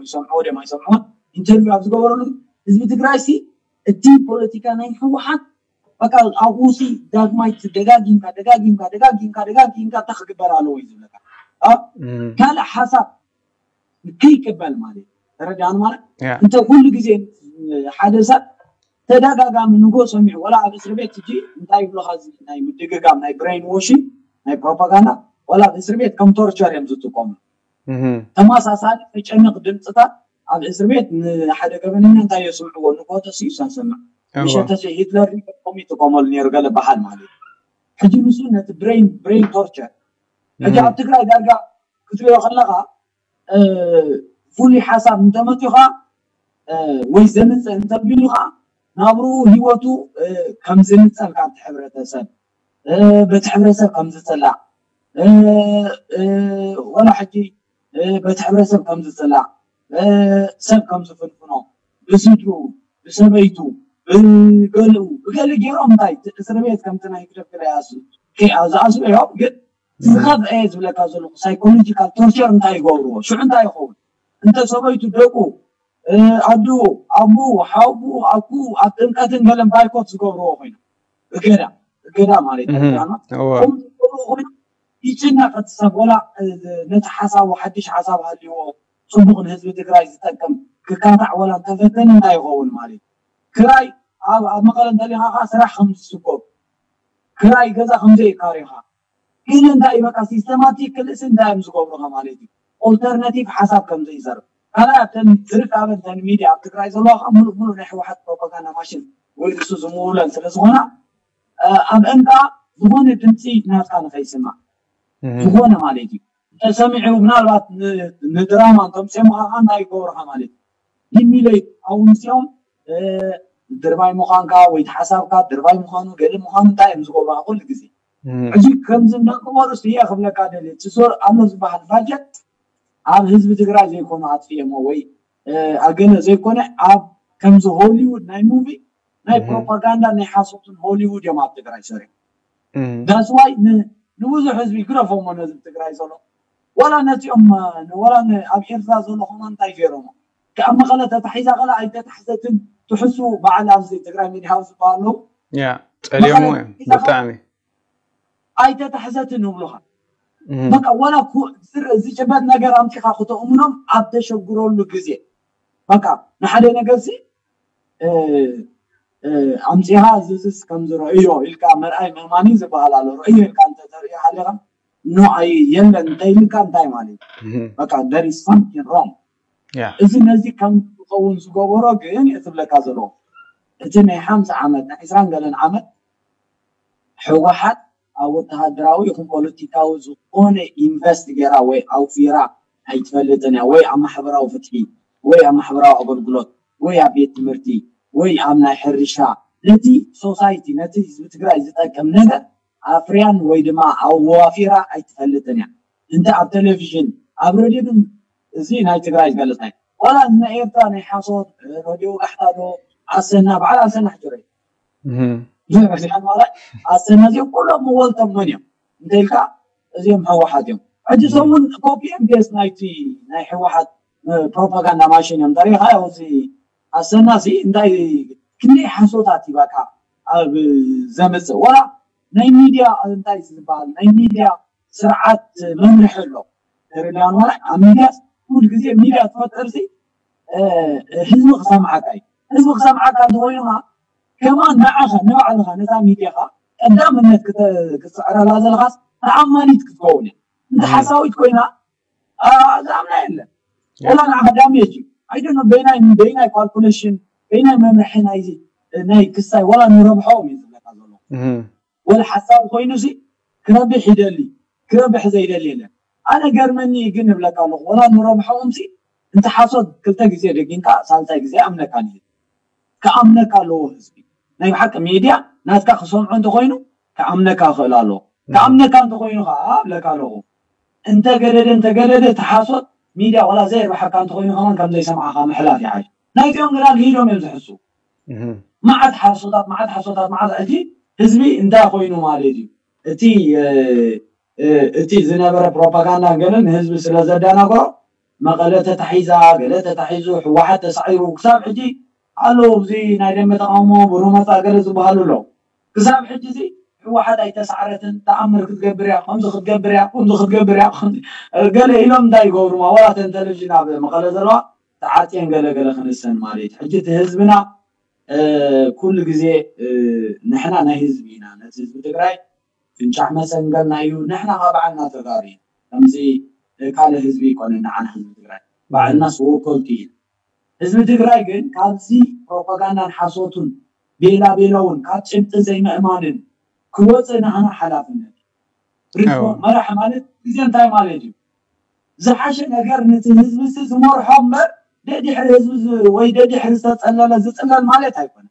ይሰምዕዎ ድዮም ኣይሰምዕዎን ኢንተርቪው ኣብ ዝገበረሉ ህዝቢ ትግራይ ሲ እቲ ፖለቲካ ናይ ህወሓት በቃ ኣብኡ ሲ ዳግማይ ደጋጊምካ ደጋጊምካ ደጋጊምካ ደጋጊምካ እንታይ ክግበር ኣለዎ እዩ ዝብለካ። ካልእ ሓሳብ ከይቅበል ማለት ተረዳን ማለት እንተ ኩሉ ግዜ ሓደ ሰብ ተደጋጋሚ ንጎ ሰሚዑ ወላ ኣብ እስር ቤት ሕጂ እንታይ ይብሉካ ናይ ምድግጋም ናይ ብሬን ዎሽን ናይ ፕሮፓጋንዳ ወላ ኣብ እስር ቤት ከም ቶርቸር እዮም ዝጥቀሙ። ተመሳሳሊ ተጨንቕ ድምፅታት ኣብ እስር ቤት ንሓደ ገበነኛ እንታይ የስምዕዎ ንጎ ተሲኡ ሰንሰምዕ ምሸተሲ ሂትለር ኮም ይጥቀመሉ ነይሩ ገለ በሃል ማለት እዩ። ሕጂ ንሱ ነቲ ብሬን ብሬን ቶርቸር ሕጂ ኣብ ትግራይ ዳርጋ ክትሪኦ ከለካ ፍሉይ ሓሳብ እንተመፅኡ ከዓ ወይ ዘምፅእ እንተቢሉ ከዓ ናብርኡ ህይወቱ ከም ዝንፀል ካብቲ ሕብረተሰብ በቲ ሕብረተሰብ ከም ዝፅላእ ወላ ሕጂ በቲ ሕብረተሰብ ከም ዝፅላእ ሰብ ከም ዝፍንፍኖ ብስድሩ ብሰበይቱ ብገልኡ ብገሊ ገይሮም እንታይ እስር ቤት ከምቲ ናይ ግደፍ ገለ ዝኣስሩ እዮም ግን ዝኸፍአ ዝብለካ ዘለኹ ሳይኮሎጂካል ቶርቸር እንታይ ይገብርዎ ሽዑ እንታይ ይኸውን እንተ ሰበይቱ ደቁ ኣዱ ኣቡ ሓቡ ኣኩ ኣብ ጥምቀትን ገለን ባይኮት ዝገብርዎ ኮይኑ እገዳ እገዳ ማለት ኮይኑ ይጭነቅ እቲ ሰብ ወላ ነቲ ሓሳቡ ሓድሽ ሓሳብ ሃልይዎ ፅቡቅ ንህዝቢ ትግራይ ዝጠቅም ክካታዕ ወላ እንተፈተነ እንታይ ይኸውን ማለት ክራይ ኣብ መቐለ እንተሊኻ ከዓ ስራሕ ከም ዝስጎብ ክራይ ገዛ ከም ዘይካሪኻ ግን እንታይ በቃ ሲስተማቲክ ክልእሲ እንታይ እዮም ዝገብሩኻ ማለት እዩ ኦልተርናቲቭ ሓሳብ ከም ዘይዘርብ ካልኣይ ኣብተን ዝርካበን ተን ሚድያ ኣብ ትግራይ ዘለዋ ከዓ ሙሉእ ሙሉእ ናይ ህወሓት ፕሮፓጋንዳ ማሽን ወይ ንሱ ዝምውለን ስለ ዝኾና ኣብ እንካ ዝኾነ ድምፂ ናትካ ንኸይስማዕ ዝኾነ ማለት እዩ ተሰሚዑ ምናልባት ንድራማ እንተምፅኦም ከዓ እንታይ ይገብሩኻ ማለት እዩ ዲሚለይ ኣብኡ ምስኦም ድርባይ ምዃንካ ወይ ሓሳብካ ድርባይ ምዃኑ ገለ ምዃኑ እንታይ እዮም ዝገብሩኻ ኩሉ ግዜ ሕጂ ከምዚ እንዳገበሩ እየ ክብለካ ደልየ እቲ ዞር ኣሎ ዝበሃል ባጀት ኣብ ህዝቢ ትግራይ ዘይኮኑ ኣጥፊኦሞ ወይ ኣገለ ዘይኮነ ኣብ ከምዚ ሆሊውድ ናይ ሙቪ ናይ ፕሮፓጋንዳ ናይ ሓሶትን ሆሊውድ እዮም ኣብ ትግራይ ሰሪሖም ዳስዋይ ንብዙሕ ህዝቢ ግረፎሞ ነዚ ትግራይ ዘሎ ዋላ ነዚኦም ዋላ ኣብ ኤርትራ ዘሎ ከማ እንታይ ገይሮሞ ካብ መቐለ ተታሒዛ ከላ ኣይተታሕዘትን ትሕሱ በዓል ኣብዚ ትግራይ ሚድያ ሃውስ ዝበሃሉ ያ ፀልዮሞ እዮም ብጣዕሚ ኣይተታሕዘትን ይብሉኻ በቃ ዋላ ዝጭበጥ ነገር ኣምፂኻ ክተእምኖም ኣብ ተሸግረሉ ግዜ በቃ ንሓደ ነገር ሲ ኣምፂኻ ዝዝስ ከም ዝረእዮ ኢልካ መርኣይ ምእማኒ ዝበሃል ኣሎ ረእዮ ኢልካ እንተተርእዮ ሓሊኻ ኖ ኣይ የለን እንተይልካ እንታይ ማለት እዩ በቃ there is something wrong እዚ ነዚ ከም ዝኸውን ዝገበሮ ግን እትብለካ ዘለዎ እቲ ናይ ሓምሳ ዓመት ናይ ዕስራን ገለን ዓመት ህወሓት ኣብ ወተሃደራዊ ይኹን ፖለቲካዊ ዝኾነ ኢንቨስት ገይራ ወይ ኣውፊራ ኣይትፈልጥን እያ ወይ ኣብ ማሕበራዊ ፍትሒ ወይ ኣብ ማሕበራዊ ኣገልግሎት ወይ ኣብ ቤት ትምህርቲ ወይ ኣብ ናይ ሕርሻ ነቲ ሶሳይቲ ነቲ ህዝቢ ትግራይ ዝጠቅም ነገር ኣፍርያን ወይ ድማ ኣዋፊራ ኣይትፈልጥን እያ እንተ ኣብ ቴሌቪዥን ኣብ ሬድዮ ግን እዚ ናይ ትግራይ ዝገልፅ ናይ ዋላ ናይ ኤርትራ ናይ ሓሶት ሬድዮ ጋሕታ ዶ ኣሰና በዓል ኣሰና ሕጂ ሬድዮ ብዙሕ ርሲሓን ማለት ኣሰና እዚኦም ኩሎም መወልቶም መን እዮም እንተ ኢልካ እዚኦም ህወሓት እዮም ሕጂ ሰሙን ኮፒ ኤምፒኤስ ናይቲ ናይ ህወሓት ፕሮፓጋንዳ ማሽን እዮም ተሪኻ እዚ ኣሰና ሲ እንታይ ክንደይ ሓሶታት ይባካ ኣብ ዘምፅእ ወላ ናይ ሚድያ እንታይ ዝበሃል ናይ ሚድያ ስርዓት መምርሒ ኣሎ ተረዳን ማለት ኣብ ሚድያ ኩሉ ግዜ ሚድያ ትፈጥር ሲ ህዝቢ ክሰምዓካ እዩ ህዝቢ ክሰምዓካ እንተኮይኑ ከማን ንዓኻ ንባዕልኻ ነታ ሚድያኻ ቀዳምነት ክትስዕረላ ዘለኻስ ተኣማኒት ክትከውን እያ እንተ ሓሳዊት ኮይና ዝኣምና የለን ወላ ንዓኻ ዳሜጅ እዩ ኣይደኖ በይናይ በይናይ ካልኩሌሽን በይናይ መምርሒ ናይዚ ናይ ክስታይ ወላ ንረብሖም እዩ ዝብለካ ዘሎ ወላ ሓሳብ ኮይኑ ሲ ክረብሕ ይደሊ ክረብሕ ዘይደሊ የለን። ኣነ ገርመኒ ግን እብለካ ኣለኹ፣ ወላ ንረብሖም ሲ እንተ ሓሶት ክልተ ግዜ ደጊምካ ሳልሳይ ግዜ ኣምነካ ንየ ክኣምነካ ኣለዎ ህዝቢ። ናይ ብሓቂ ሚድያ ናትካ ክሰምዖ እንተኮይኑ ክኣምነካ ክእል ኣለዎ። ክኣምነካ እንተኮይኑ ከዓ እብለካ ኣለኹ፣ እንተገደደ እንተገደደ እቲ ሓሶት ሚድያ ዋላ ዘይርብሓካ እንተኮይኑ ከማን ከም ዘይሰምዓካ ምሕላፍ ይሓይሽ። ናይዚኦም ግና ልሂዶም እዮም ዝሕሱ። መዓት ሓሶታት መዓት ሓሶታት መዓት ሕጂ ህዝቢ እንታይ ኮይኑ ማለት እዩ? እቲ እቲ ዝነበረ ፕሮፓጋንዳ ገለ ንህዝቢ ስለ ዘደናግሮ መቐለ ተታሒዛ ገለ ተታሒዙ ህወሓት ተሳዒሩ ክሳብ ሕጂ ኣለዉ። እዚ ናይ ደንበ ተቃውሞ ብሩ መፃ ገለ ዝበሃሉ ኣለዉ። ክሳብ ሕጂ እዚ ህወሓት ኣይተሳዕረትን፣ ተኣምር ክትገብር እያ፣ ከምዚ ክትገብር እያ፣ ከምዚ ክትገብር እያ፣ ገለ ኢሎም እንታይ ይገብሩ? ዋላ ተን ቴሌቪዥን ኣብ መቐለ ዘለዋ ተዓፅየን ገለ ገለ ክንሰን ማለት እዩ። ሕጂ እቲ ህዝብና ኩሉ ግዜ ንሕና ናይ ህዝቢ ኢና፣ ነቲ ህዝቢ ትግራይ ፍንጫሕ መሰንገልና እዩ። ንሕና ካብ ባዕልና ተጋሩ ኢና። ከምዚ ካልእ ህዝቢ ይኮነ ንዓና ህዝቢ ትግራይ ባዕልና ስወከልቲ ኢና። ህዝቢ ትግራይ ግን ካብዚ ፕሮፓጋንዳን ሓሶቱን ቤላ ቤላውን ካብ ጭብጢ ዘይምእማንን ክወፅእ ንዓና ሓላፍነት እዩ። መራሕ ማለት ግዜ እንታይ ማለት እዩ? ዝሓሸ ነገር ነቲ ህዝቢ ሲ ዝመርሖ እምበር ደድሕሪ ህዝቢ ወይ ደድሕሪ ዝተፀለለ ዝፅለል ማለት ኣይኮነ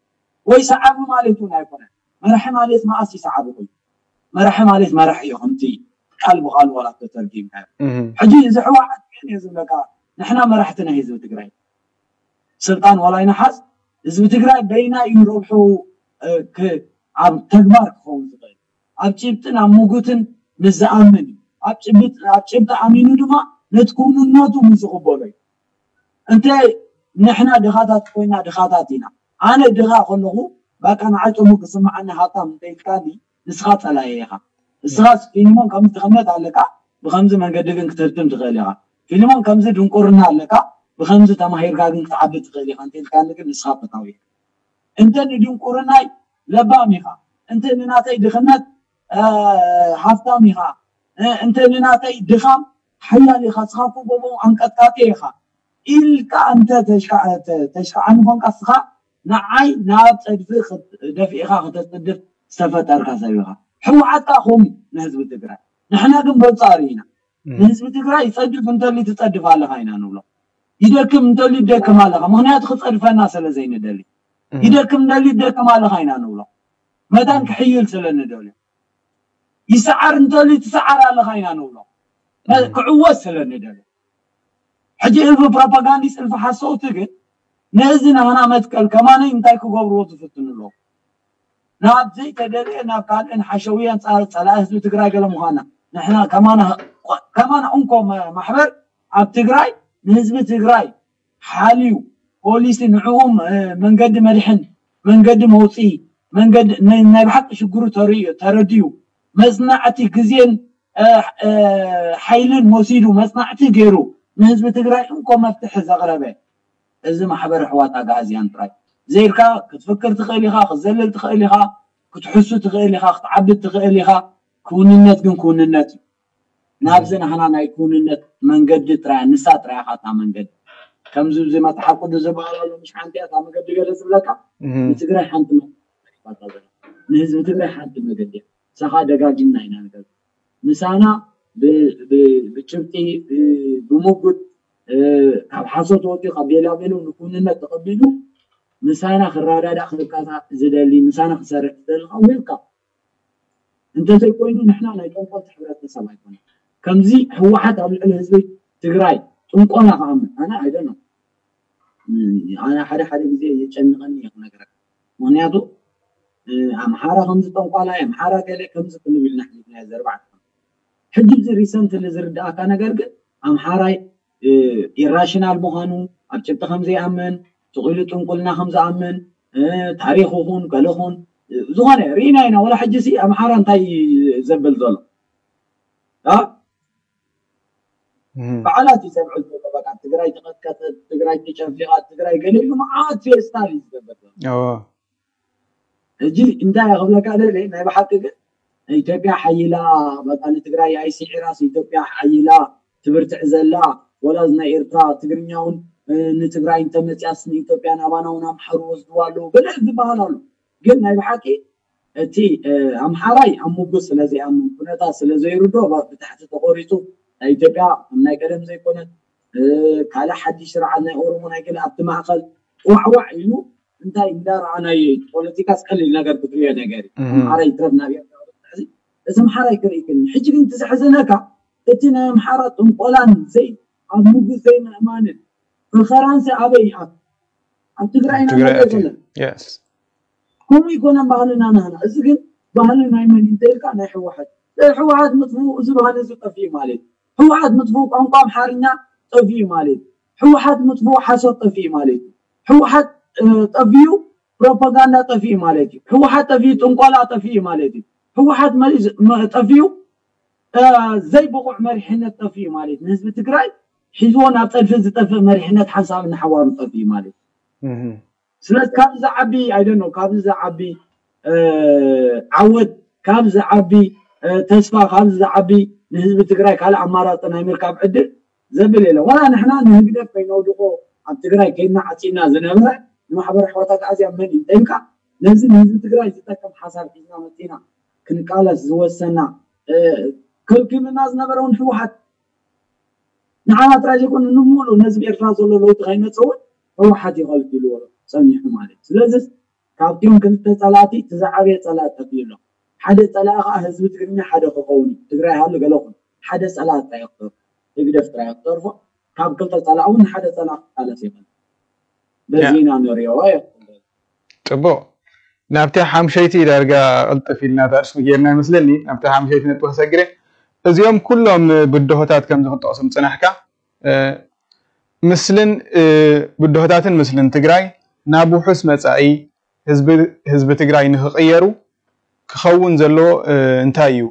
ወይ ሰዓቢ ማለት እውን ኣይኮነ። መራሒ ማለት መኣስ ይሰዓቢ ኮይኑ መራሒ ማለት መራሒ እዩ። ከምቲ ቃል ብቃል ዋላ ተተርጊምካ ሕጂ እዚ ሕወሓት ግን እየ ዝብለካ ንሕና መራሕቲ ናይ ህዝቢ ትግራይ ስልጣን ዋላ ይነሓዝ ህዝቢ ትግራይ በይና እዩ ረብሑ ኣብ ተግባር ክኸውን ዝኽእል ኣብ ጭብጥን ኣብ ምጉትን ምስ ዝኣምን እዩ። ኣብ ጭብጥ ኣብ ጭብጢ ኣሚኑ ድማ ነቲ ክውንነቱ ምስ ዝቕበሎ እዩ። እንተ ንሕና ድኻታት ኮይና ድኻታት ኢና። ኣነ ድኻ ከለኹ ባቃ ንዓይ ጥሙር ክስምዓኒ ሃብታም እንተ ኢልካኒ ንስኻ ጸላኢ ኢኻ። ንስኻስ ፊልሞን ከምዚ ድኽነት ኣለካ ብኸምዚ መንገዲ ግን ክትህብትም ትኽእል ኢኻ። ፊልሞን ከምዚ ድንቁርና ኣለካ ብኸምዚ ተማሂርካ ግን ክትዓቢ ትኽእል ኢኻ እንተ ኢልካኒ ግን ንስኻ ፈታዊ ኢኻ። እንተ ንድንቁርናይ ለባም ኢኻ፣ እንተ ንናተይ ድኽነት ሃፍታም ኢኻ፣ እንተ ንናተይ ድኻም ሓያል ኢኻ፣ ስኻኮ ጎቦ ኣንቀጥቃጢ ኢኻ ኢልካ እንተ ተሽካዓኒ ኮንካ ስኻ ንዓይ ናብ ፀድፊ ደፊእኻ ከተፅድፍ ዝተፈጠርካ ሰብ ኢኻ። ሕወሓት ከዓ ከምኡ ንህዝቢ ትግራይ ንሕና ግን በንፃሩ ኢና። ንህዝቢ ትግራይ ይፀድፍ እንተሊ ትፀድፍ ኣለኻ ኢና ንብሎ። ይደክም እንተሊ ትደክም ኣለኻ። ምኽንያቱ ክፀድፈና ስለ ዘይንደሊ። ይደክም እንተሊ ትደክም ኣለኻ ኢና ንብሎ። መታን ክሕይል ስለ ንደልዮ። ይሰዓር እንተሊ ትሰዓር ኣለኻ ኢና ንብሎ። ክዕወት ስለ ንደልዮ። ሕጂ እልፊ ፕሮፓጋንዲስት እልፊ ሓሰውቲ ግን ነዚ ናህና መትከል ከማነይ እንታይ ክገብርዎ ዝፍትኑ ኣለዉ? ናብ ዘይተደልየ ናብ ካልእን ሓሸውያን ጸላኢ ህዝቢ ትግራይ ገለ ምዃና ንሕና ከማና እንኮ ማሕበር ኣብ ትግራይ ንህዝቢ ትግራይ ሓልዩ ፖሊሲ ንዕኡ መንገዲ መድሕን መንገዲ መውፅኢ መንገዲ ናይ ብሓቂ ሽግሩ ተረዲኡ መፅናዕቲ ግዜን ሓይልን ወሲዱ መፅናዕቲ ገይሩ ንህዝቢ ትግራይ እንኮ መፍትሒ ዘቕረበ እዚ ማሕበር ኣሕዋት ኣግኣዝያን ጥራይ ዘይልካ ክትፍክር ትኽእል ኢኻ፣ ክትዘልል ትኽእል ኢኻ፣ ክትሕሱ ትኽእል ኢኻ፣ ክትዓብድ ትኽእል ኢኻ። ክውንነት ግን ክውንነት እዩ። ናብዚ ናህና ናይ ክውንነት መንገዲ ጥራይ ንሳ ጥራይ ኢኻ እታ መንገዲ። ከምዚ እዚ መፅሓፍ ቅዱስ ዝበሃል ኣሎ ምሽ ሓንቲ እያ እታ መገዲ ገለ ዝብለካ ንትግራይ ሓንቲ ንህዝቢ ትግራይ ሓንቲ መገዲ እያ። ንሳኻ ደጋጊምና ኢና ንገልፅ። ምሳና ብጭብጢ ብሙጉት ካብ ሓሶት ወፂኡ ካብ ቤላቤሎ ንኩንነት ተቐቢሉ ምሳና ክረዳዳእ ክልካታ ዝደሊ ምሳና ክሰርሕ ዝደሊ ከዓ ዌልካም። እንተዘይኮይኑ ንሕና ናይ ጠንቆልቲ ሕብረተሰብ ኣይኮነ። ከምዚ ህወሓት ኣብ ልዕሊ ህዝቢ ትግራይ ጥንቆላ ክኣምን ኣነ ኣይደኖ ኣነ ሓደ ሓደ ግዜ የጨንቐኒ እየ ክነግረካ። ምክንያቱ ኣምሓራ ከምዚ ጠንቋላይ ኣምሓራ ገለ ከምዚ ክንብል ኢና ሓሊፍናዮ ዘርባዕተ ሕጂ እዚ ሪሰንትሊ ዝርዳእካ ነገር ግን ኣምሓራይ ኢራሽናል ምዃኑ ኣብ ጭብጢ ከም ዘይኣምን ስቕ ኢሉ ጥንቁልና ከም ዝኣምን ታሪክ ኹን ገለ ኹን ዝኾነ ርኢና ኢና። ወላ ሕጂ ሲ ኣምሓራ እንታይ ዘብል ዘሎ በዓላት እዩ ዘብዕል ዘሎ። በቃ ትግራይ ተቐጥቀጠት፣ ትግራይ ተጨፍሊቓ፣ ትግራይ ገለ ኢሉ መዓት ፌስታል እዩ ዝገብር ዘሎ። ሕጂ እንታይ ክብለካ ደለ ናይ ብሓቂ ግን ኢትዮጵያ ሓይላ በቃ ንትግራይ ኣይስዒራስ ኢትዮጵያ ሓይላ ትብርትዕ ዘላ ወላ ናይ ኤርትራ ትግርኛ እውን ንትግራይ እንተመፅያስ ንኢትዮጵያ ናባና እውን ኣምሓሩ ወስድዋ ኣለዉ ገለ ዝበሃል ኣሎ። ግን ናይ ብሓቂ እቲ ኣምሓራይ ኣብ ምጉስ ስለዘይኣምን፣ ኩነታት ስለዘይርዶ ብታሕቲ ተቆሪፁ፣ ናይ ኢትዮጵያ ከም ናይ ቀደም ዘይኮነት፣ ካልእ ሓድሽ ስርዓት ናይ ኦሮሞ ናይ ገለ ኣብቲ ማእኸል ዋዕዋዕ ኢሉ እንታይ እንዳረኣናዮ እዩ። ፖለቲካስ ቀሊል ነገር ክትሪኦ ነገር እዩ። ኣምሓራይ ይትረፍ ናብ ኤርትራ። እዚ ኣምሓራይ ክርኢ ክእል። ሕጂ ግን እቲ ዘሕዘነካ እቲ ናይ ኣምሓራ ጥንቆላን ዘይ ኣብ ምጉስ ዘይምእማንን ፈኸራንሲ ኣበይ ይኣቱ? ኣብ ትግራይ ኢና ንሪኦ ዘለና። ከምኡ ይኮነን ባህልና ናህና። እዚ ግን ባህሊ ናይ መን እንተኢልካ ናይ ህወሓት። ህወሓት ምጥፍኡ እዚ ባህሊ እዚ ጠፊኡ ማለት እዩ። ህወሓት ምጥፍኡ ቋንቋ ኣምሓርኛ ጠፊኡ ማለት እዩ። ህወሓት ምጥፍኡ ሓሶት ጠፊኡ ማለት እዩ። ህወሓት ጠፊኡ ፕሮፓጋንዳ ጠፊኡ ማለት እዩ። ህወሓት ጠፊኡ ጥንቆላ ጠፊኡ ማለት እዩ። ህወሓት ጠፊኡ ዘይብቑዕ መሪሕነት ጠፊኡ ማለት እዩ። ንህዝቢ ትግራይ ሒዝዎ ናብ ፀድፊ ዝጠፍእ መሪሕነት ሓንሳብ ንሓዋሩ ጠፊኡ ማለት እዩ። ስለዚ ካብዚ ዝዓቢ ኣይደኖ ካብዚ ዝዓቢ ዓወት፣ ካብዚ ዝዓቢ ተስፋ፣ ካብዚ ዝዓቢ ንህዝቢ ትግራይ ካልእ ኣማራፂ ናይ ምርካብ ዕድል ዘብል የለን። ዋላ ንሕና ንህግደፍ ከይነውድቆ ኣብ ትግራይ ከይና ዓፂና ዝነበረ ንማሕበር ኣሕዋት ኣግኣዝያን መን እዩ እንተኢልካ ነዚ ንህዝቢ ትግራይ ዝጠቅም ሓሳብ ሒዝና መፂና ክንቃለስ ዝወሰና ክልክልና ዝነበረ እውን ህወሓት ንዓና ጥራይ ዘይኮነ ንምሉእ ነዚ ኤርትራ ዘሎ ለውጢ ከይመፅእ እውን ህወሓት ይኸልክልዎ ፀኒሑ ማለት እዩ። ስለዚ ካብቲኦም ክልተ ፀላእቲ እቲ ዝዓበየ ፀላእ ጠፊኡ ኣሎ። ሓደ ፀላኢ ከዓ ህዝቢ ትግርኛ ሓደ ክኸውን እዩ። ትግራይ ሃሉ ገለ ኹን ሓደ ፀላእ ጥራይ ይኽተርፎ፣ ህግደፍ ጥራይ ይኽተርፎ። ካብ ክልተ ፀላእ እውን ሓደ ፀላእ ክቃለስ ይኽእል። በዚ ኢና ንሪኦ። ፅቡቅ ናብቲ ሓምሸይቲ ዳርጋ ቅልጥፍ ኢልና ታርስሚ ጌርና ይመስለኒ ናብቲ ሓምሸይቲ ነጥቢ ክሰግረ እዚኦም ኩሎም ብድሆታት ከምዚ ክጠቕሱ ምፅናሕካ ምስልን ብድሆታትን ምስልን ትግራይ ናብ ውሑስ መፃኢ ህዝቢ ትግራይ ንክቕየሩ ክኸውን ዘለዎ እንታይ እዩ?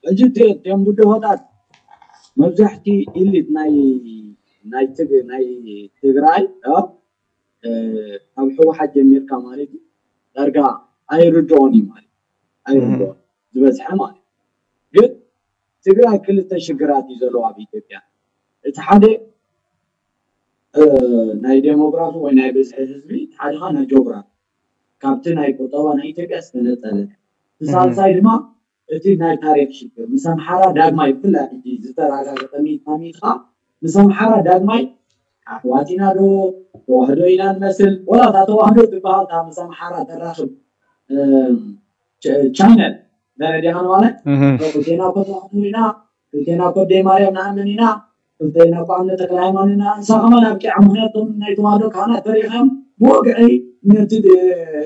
ሕጂ እቶም ብድሆታት መብዛሕቲ ኢሊት ናይ ናይ ትግ ናይ ትግራይ ካብ ህወሓት ጀሚርካ ማለት እዩ ዳርጋ ኣይርድኦን እዩ ማለት ኣይርድኦን ዝበዝሐ ማለት ግን ትግራይ ክልተ ሽግራት እዩ ዘለዎ ኣብ ኢትዮጵያ። እቲ ሓደ ናይ ዴሞግራፊ ወይ ናይ ብዝሒ ህዝቢ፣ እቲ ሓደ ከዓ ናይ ጂኦግራፊ ካብቲ ናይ ቁጠባ ናይ ኢትዮጵያ ዝተነፀለ፣ እቲ ሳልሳይ ድማ እቲ ናይ ታሪክ ሽግር ምስ ኣምሓራ ዳግማይ ብፍላይ ሕጂ ዝተረጋገጠ ሚእታ ሚእቲ ከዓ ምስ ኣምሓራ ዳግማይ ኣሕዋት ኢና ዶ ተዋህዶ ኢና ንመስል ወላ እታ ተዋህዶ ትበሃል እታ ምስ ኣምሓራ ተራኽብ ቻነል ደረጃ ማለት ክልቴና እኮ ተዋህዶ ኢና ክልቴና እኮ ኣደይ ማርያም ንኣምን ኢና ክልቴና እኮ ኣምነ ተክለ ሃይማኖት ኢና ንሳ ከማን ኣብቂዓ ምክንያቱ ናይ ተዋህዶ ካህናት ተሪኺም ብወግዒ ነቲ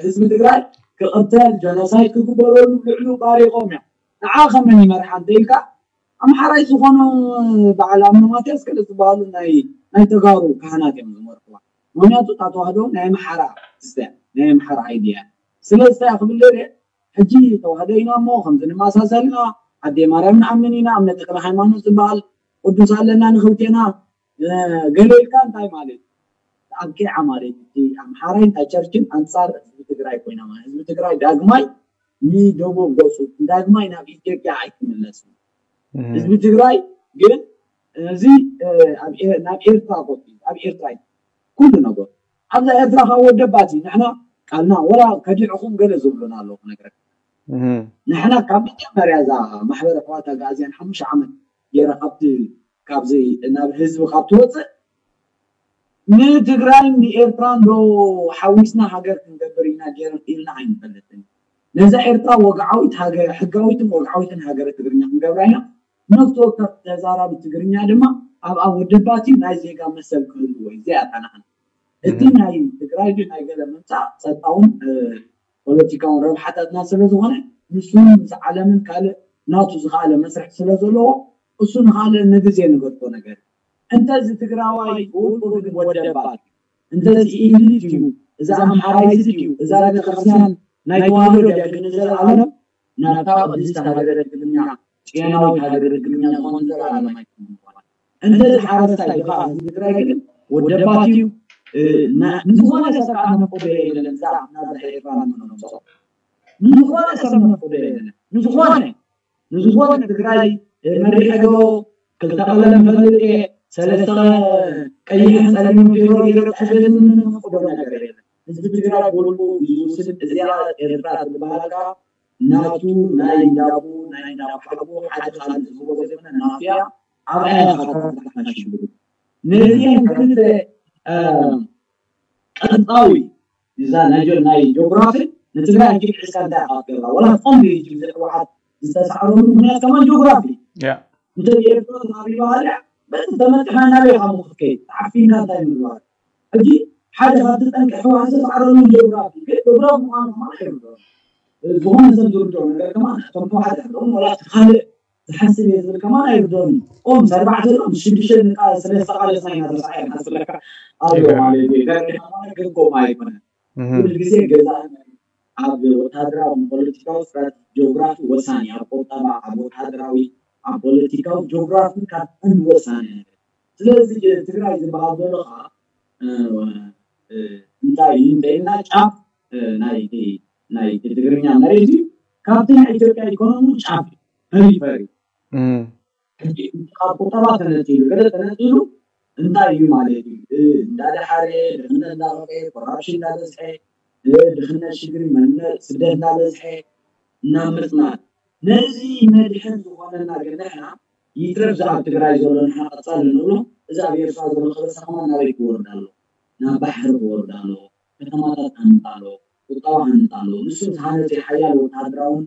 ህዝቢ ትግራይ ክቕተል ጀኖሳይድ ክግበረሉ ልዕሉ ባሪቖም እዮም ንዓ ከመን ይመርሓ እንተኢልካ ኣምሓራይ ዝኾኑ በዓል ኣምነ ማትያስ ገለ ዝበሃሉ ናይ ናይ ተጋሩ ካህናት እዮም ዝመርሕዋ ምክንያቱ እታ ተዋህዶ ናይ ኣምሓራ ስተ ናይ ኣምሓራ ኣይድያ ስለዚ እንታይ ክብል ደልየ ሕጂ ተዋህዶ ኢና እሞ ከምዚ ንመሳሰል ኢና ኣደይ ማርያም ንኣምን ኢና እምነ ተክለ ሃይማኖት ዝበሃል ቅዱስ ኣለና ንክልቴና ገለ ኢልካ እንታይ ማለት ኣብቂዓ ማለት እቲ ኣምሓራይ እንታይ ቸርችን ኣንፃር ህዝቢ ትግራይ ኮይና ማለት ህዝቢ ትግራይ ዳግማይ ንደቡብ ገፁ ዳግማይ ናብ ኢትዮጵያ ኣይክምለስን ህዝቢ ትግራይ ግን እዚ ናብ ኤርትራ ኮ ኣብ ኤርትራ ኩሉ ነገር ኣብዛ ኤርትራ ካብ ወደባት እዩ ንሕና ቃልና ወላ ከዲዕኹም ገለ ዝብሉና ኣለዉ ክነግረካ ንሕና ካብ መጀመርያ እዛ ማሕበረ ኣሕዋት ኣግኣዝያን ሓሙሽተ ዓመት ገይረ ካብቲ ካብዚ ናብ ህዝቢ ካብ ትወፅእ ንትግራይን ንኤርትራን ዶ ሓዊስና ሃገር ክንገብር ኢና ገይረን ኢልና ኣይንፈልጥን ነዛ ኤርትራ ወግዓዊት ሃገር ሕጋዊትን ወግዓዊትን ሃገረ ትግርኛ ክንገብራ ኢና ነፍሲ ወከፍ ተዛራቢ ትግርኛ ድማ ኣብኣ ወደባት እዩ ናይ ዜጋ መሰል ክህልዎ እዩ እዚኣ እታ ንዓና እቲ ናይ ትግራይ ግን ናይ ገለ ምምፃእ ፀጥታውን ፖለቲካውን ረብሓታትና ስለ ዝኾነ ንሱ ምስ ዓለምን ካልእ ናቱ ዝኸኣለ መስርሕ ስለ ዘለዎ እሱ ንኻልእ ንግዜ ንገድፎ ነገር እንተዚ ትግራዋይ ውልቁ ግን ወደባት እንተዚ ኢሊት እዩ እዛ ኣምሓራይት እዩ እዛ ቤተክርስትያን ናይ ተዋህዶ ድያ ግን ዘለዓለም ናብታ ቅድስቲ ሃገረ ትግርኛ ጭያናዊት ሃገረ ትግርኛ ዝኾን ዘለዓለም ኣይኮነን እንተዚ ሓረስታይ ድኻ ህዝቢ ትግራይ ግን ወደባት እዩ ንዝኾነ ሰብ ከዓ መፍቅዶ የለን እዛ ናብዛ ኤርትራ ንምምፅኦ ንዝኾነ ሰብ መፍቅዶ የለን ንዝኾነ ንዝኾነ ትግራይ መሪሐ ዶ ክልተ ቀለም ፈልጥ እየ ሰለስተ ቀይሕን ፀሊምን ጌሮ ገይረ ክሕግዝ ንምፍቅዶ ነገር የለን ህዝቢ ትግራይ ብውልቁ እዩ ዝውስን። እዚኣ ኤርትራ ትበሃል ከኣ ናቱ ናይ እንዳቡ ናይ እንዳሓጎ ሓደ ካልእ ዝህቦ ዘይኮነ ናትያ ኣብኣ ኢኻ ክትብሓሽሉ። ነዚአን ክልተ ቀንጣዊ እዛ ናይ ጆ- ናይ ጂኦግራፊ ንትግራይ ሕጂ ክዕስካ እንታይ ኢኻ ክትገብራ? ወላ ትኾን ድዩ ሕጂ ብዘይ ህወሓት ዝተሳዕረሉ ምክንያት ከማን ጂኦግራፊ። ያ እንተ ኤርትራ ተኻቢባ ሃልያ በቲ ተመጢኻ ናበይ ኢኻ ምኽትከይ? ተዓፊንካ እንታይ ምግባር? ሕጂ ሓደ ካብቲ ጠንቂ ህወሓት ዝተሳዕረሉ ጂኦግራፊ ግን ጂኦግራፊ ምዃኑ ከማን ኣይርድኦን። ዝኾነ ሰብ ዝርድኦ ነገር ከማን ከም ህወሓት ኣይርድኦን። ወላ እቲ ካልእ ዝሓስብ እየ ዝብል ከማን ኣይርድኦን። ኦም ኣርባዕተ ሎ ምስ ሽዱሽተ ንቃ ስለ ዝተቃለስና ኢና ተሳዒርና ስለካ ኣሎ ማለት እዩ። ገርካ ማለት ግን ከምኡ ኣይኮነን። ኩሉ ግዜ ገዛእና ኣብ ወታደራዊ ፖለቲካዊ ስትራቴጂ ጂኦግራፊ ወሳኒ ኣብ ቁጠባ ኣብ ወታደራዊ ኣብ ፖለቲካዊ ጂኦግራፊ ካብ ቀንዲ ወሳኒ ነገር። ስለዚ ትግራይ ዝበሃል ዘሎ ከዓ እንታይ እዩ እንተኢልና ጫፍ ናይ ናይ ትግርኛ መሬት እዩ። ካብቲ ናይ ኢትዮጵያ ኢኮኖሚ ጫፍ እዩ ፐሪፈሪ። ሕጂ ካብ ቁጠባ ተነፂሉ ገለ ተነፂሉ እንታይ እዩ ማለት እዩ? እንዳደሓረ ድኽነት እንዳኸፈ ኮራፕሽን እንዳበዝሐ ድኽነት ሽግሪ መንነት ስደት እንዳበዝሐ እናመፅና ነዚ መድሕን ዝኾነና ግን ንሕና ይትረፍ ዝኣብ ትግራይ ዘሎ ንሕና ቀፃሊ ንብሎ እዚ ኣብ ኤርትራ ዘሎ ከበሳ ከማን ናበይ ክወርድ ኣሎ? ናብ ባሕሪ ክወርድ ኣሎ። ከተማታት ክሃንፅ ኣሎ። ቁጠባ ክሃንፅ ኣሎ። ንሱ ዝሃነፀ ሓያል ወታደራውን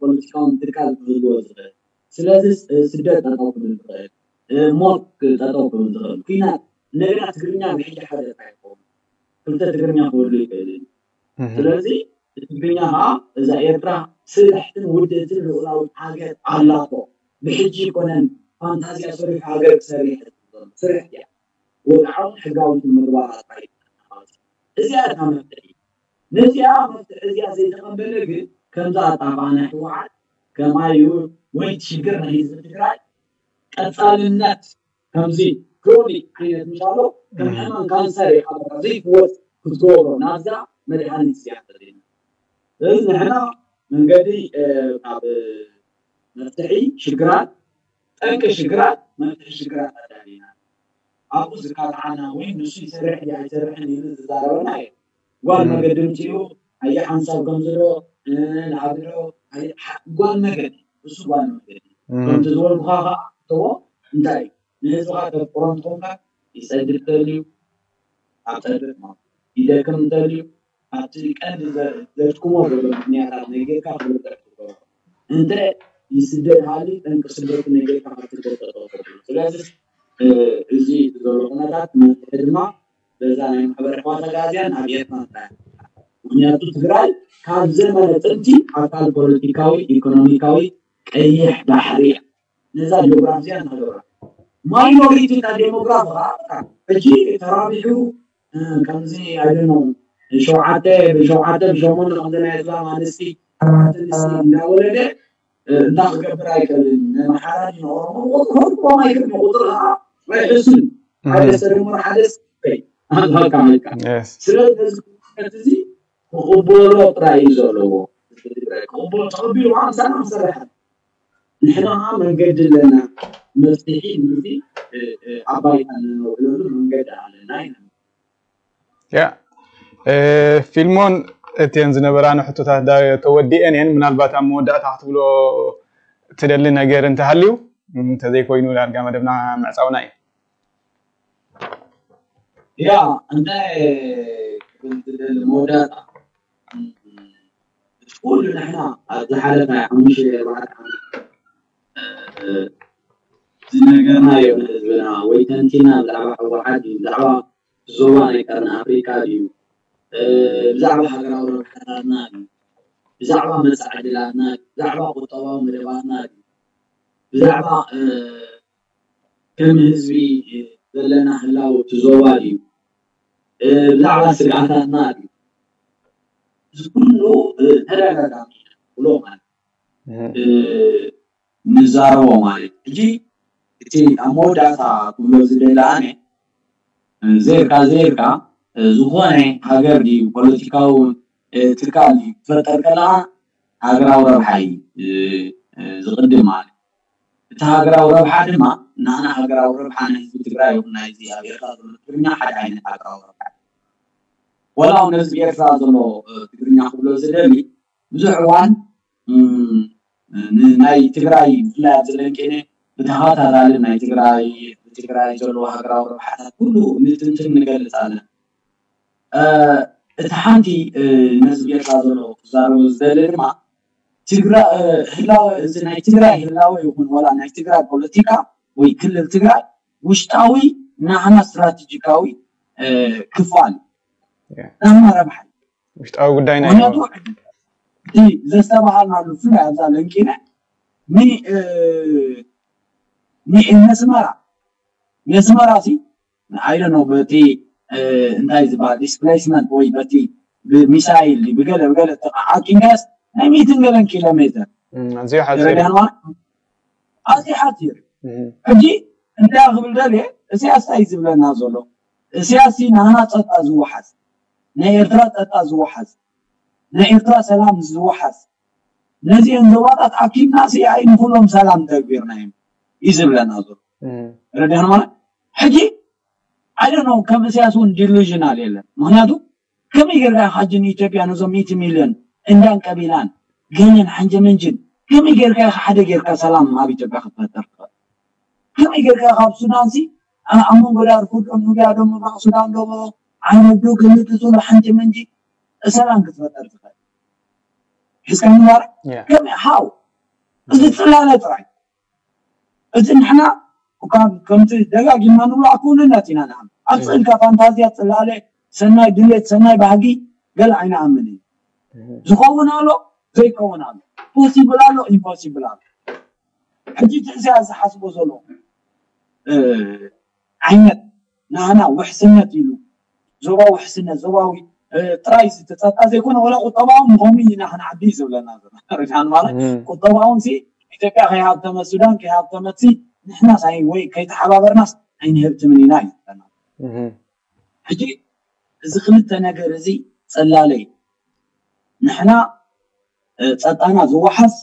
ፖለቲካውን ትካል ክህልዎ ዝኽእል ስለዚ ስደት ጠጠው ክብል ዝኽእል ሞት ጠጠው ክብል ዝኽእል ኩናት እንደገና ትግርኛ ብሕጂ ሓደ ጥራሕ ይኸውን ክልተ ትግርኛ ክህሉ ይኽእል እዩ። ስለዚ ትግርኛ ከዓ እዛ ኤርትራ ስልሕትን ውድእትን ልኡላዊት ሃገር ኣላቶ። ብሕጂ ይኮነን ፋንታዝያ ሰሪሑ ሃገር ክሰርሕ ስርሕ እያ። ወግዓውን ሕጋውን ምግባር ኣባይ እዚኣ እታ መፍትሒ። ነዚኣ መፍትሒ እዚኣ ዘይተቐበለ ግን ከምዛ ኣጣፋ ናይ ህወሓት ከማዩ ወይ ሽግር ናይ ህዝቢ ትግራይ ቀፃልነት ከምዚ ክሮኒክ ዓይነት ምሻሎ ከም ሕማም ካንሰር ኢኻ በቃ ዘይፍወስ ክትገብሮ ናብዛ መድሃኒት እዚኣ ተዘይና ስለዚ ንሕና መንገዲ ካብ መፍትሒ ሽግራት ጠንቂ ሽግራት መፍትሒ ሽግራት ኣዳሊና ኣብኡ ዝካትዓና ወይ ንሱ ይሰርሕ ድዩ ኣይሰርሕን ኢሉ ዝዛረበና እዩ። ጓል መገዲ ምፅኡ ኣየ ሓንሳብ ከምዚ ዶ ንዓቢ ዶ ጓል መገዲ እሱ ጓል መገዲ ከምቲ ዝበልኩኻ ከዓ ተዎ እንታይ ንህዝብኻ ተፍቅሮ እንትኾንካ ይፀድፍ ተልዩ ኣብ ፀድፍ ማለት ይደክም እንተልዩ ኣብቲ ቀንዲ ዘድክሞ ዘሎ ምክንያታት ነጊርካ ክርዳእ ትገብሮ እንተ ይስደድ ሃሊ ጠንቂ ስደቱ ነጊርካ ክትርዳእ ትገብሮ ስለዚ እዚ ዘሎ ኩነታት መፍትሒ ድማ በዛ ናይ ማሕበረ ሕዋት ኣጋዝያን ኣብ ኤርትራ ጥራይ ምክንያቱ ትግራይ ካብ ዘመነ ጥንቲ ኣካል ፖለቲካዊ ኢኮኖሚካዊ ቀይሕ ባሕሪ እያ ነዛ ጂኦግራፊ እዚኣ እናገበራ ማይኖሪቲ እና ዴሞግራፊ ከዓ በቃ ሕጂ ተራቢሑ ከምዚ ኣይደኖ ሸውዓተ ብሸውዓተ ብሸሞንተ ከምዚ ናይ እስላም ኣንስቲ ኣንስቲ እንዳወለደ እንዳ ክገብር ኣይክእልን ንሓራጅ ንኦሮሞ ቁጥሮም ኣይክእል ቁጥር ከዓ ኣይሕስን ሓደ ሰለሞን ሓደ ኣልካ መልካ ስለዚ ነዚ እዚ ክቕበሎ ጥራይ እዩ ዘለዎ ክቕበሎ ተቐቢሉ ከዓ ምሳና ክሰርሕ ንሕና ከዓ መንገዲ ኣለና መፍትሒ ምዚ ዓባይ ኣለና ውዕለሉ መንገዲ ኣለና ኢና ያ ፊልሞን እተን ዝነበራና ሕቶታት ተወዲአን እየን ምናልባት ኣብ መወዳእታ ክትብሎ ትደሊ ነገር እንተሃልዩ እንተዘይኮይኑ ዳርጋ መደብና ምዕፃውና እዩ ያ እንታይ ክብል ዝደሊ መወዳእታ ኩሉ ንሕና ኣብ ዝሓለፈ ሓሙሽተ ኣርባዕተ ዓመት ዝነገርናዮ ንህዝብና ወይ ተንቲና ብዛዕባ ህወሓት እዩ ብዛዕባ ዞባ ናይ ቀርኒ ኣፍሪካ ድዩ ብዛዕባ ሃገራዊ ረብሓታትና ድዩ ብዛዕባ መፃኢ ዕድላትና ድዩ ብዛዕባ ቁጠባዊ መደባትና ድዩ ብዛዕባ ከም ህዝቢ ዘለና ህላወ እቲ ዞባ ድዩ ብዛዕባ ስግኣታትና ድዩ እዚ ኩሉ ተደጋጋሚ ብሎ ማለት ንዛረቦ ማለት ሕጂ እቲ ኣብ መወዳእታ ክብሎ ዝደሊ ኣነ ዘይርካ ዘይርካ ዝኾነ ሃገር ድዩ ፖለቲካዊ ትካል ድዩ ክፈጠር ከለካ ሃገራዊ ረብሓ እዩ ዝቕድም ማለት እቲ ሃገራዊ ረብሓ ድማ ንዓና ሃገራዊ ረብሓ ናይ ህዝቢ ትግራይ ይኹን ናይዚ ኣብ ኤርትራ ዘሎ ትግርኛ ሓደ ዓይነት ሃገራዊ ረብሓ ወላ እውን ነዚ ኤርትራ ዘሎ ትግርኛ ክብሎ ዝደሊ፣ ብዙሕ እዋን ናይ ትግራይ ብፍላይ ኣብዚ ለንቄነ ብተኸታታሊ ናይ ትግራይ ብትግራይ ዘለዎ ሃገራዊ ረብሓታት ኩሉ ንትንትን ንገልፅ ኣለና። እቲ ሓንቲ ነዚ ኤርትራ ዘሎ ክዛረቦ ዝደሊ ድማ ትግራይ ህላወ እዚ ናይ ትግራይ ህላወ ይኹን ወላ ናይ ትግራይ ፖለቲካ ወይ ክልል ትግራይ ውሽጣዊ ናህና ስትራቴጂካዊ ክፋል ናህና ረብሓ ውሽጣዊ ጉዳይ ናይ ምክንያቱ እቲ ዘስተባሃልናሉ ብፍላይ ኣብዛ ለንቂነ ነስመራ ነስመራ ሲ ኣይደ ነው በቲ እንታይ ዝበሃል ዲስፕሌስመንት ወይ በቲ ብሚሳይል ብገለ ብገለ ተዓቂንካስ ናይ ሚእትን ገለን ኪሎ ሜትር ኣዝዩ ሓፂር ተረዲኣን ማለት ኣዝዩ ሓፂር ሕጂ እንታይ ክብል ደልየ እስያስ እንታይ ዝብለና ዘሎ እስያስ ናህና ፀጣ ዝወሓዝ ናይ ኤርትራ ፀጣ ዝወሓዝ ናይ ኤርትራ ሰላም ዝወሓዝ ነዚአን ዞባታት ኣኪብና ሲ ኣይ ንኩሎም ሰላም ተግቢርና እዮም እዩ ዝብለና ዘሎ ረዲያን ማለት ሕጂ ኣይ ነው ከም እስያስ እውን ዲሉዥናል የለን ምክንያቱ ከመይ ጌርካ ሓጂ ንኢትዮጵያ ነዞም ሚእቲ ሚልዮን እንዳን ቀቢላን ገለን ሓንጀመንጅን ከመይ ጌርካ ኢኻ ሓደ ጌርካ ሰላም ኣብ ኢትዮጵያ ክትፈጠር ትኽእል ከመይ ጌርካ ካብ ሱዳን ሲ ኣብ መንጎ ዳርፉር ዶ ኑቢያ ዶ ምብራቕ ሱዳን ዶ ዓይነት ዶ ግምት ዝብሉ ሓንጀመንጂ ሰላም ክትፈጠር ትኽእል ሒዝካ ምባር ከመይ ሓው እዚ ፅላለ ጥራይ እዚ ንሕና ከምቲ ደጋጊምና ንብሎ ኣክውንነት ኢና ንኣምን ኣብ ስእልካ ፋንታዝያ ፅላለ ሰናይ ድሌት ሰናይ ባህጊ ገለ ኣይንኣምን እዩ ዝኸውን ኣሎ ዘይከውን ኣሎ ፖሲብል ኣሎ ኢምፖሲብል ኣሎ ሕጂ እቲ እዚ ዝሓስቦ ዘሎ ዓይነት ናህና ውሕስነት ኢሉ ዞባዊ ውሕስነት ዞባዊ ጥራይ ዝተፀጣ ዘይኮነ ወላ ቁጠባዊ ምኾኑ ኢና ክንዓቢ እዩ ዝብለና ዘሎ ርድሃን ማለት ቁጠባውን ሲ ኢትዮጵያ ከይሃብተመት ሱዳን ከይሃብተመት ሲ ንሕና ሳይ ወይ ከይተሓባበርናስ ኣይንህብትምን ኢና እዩ ዝብለና ሕጂ እዚ ክልተ ነገር እዚ ፀላለይ ንሕና ፀጣና ዝወሓስ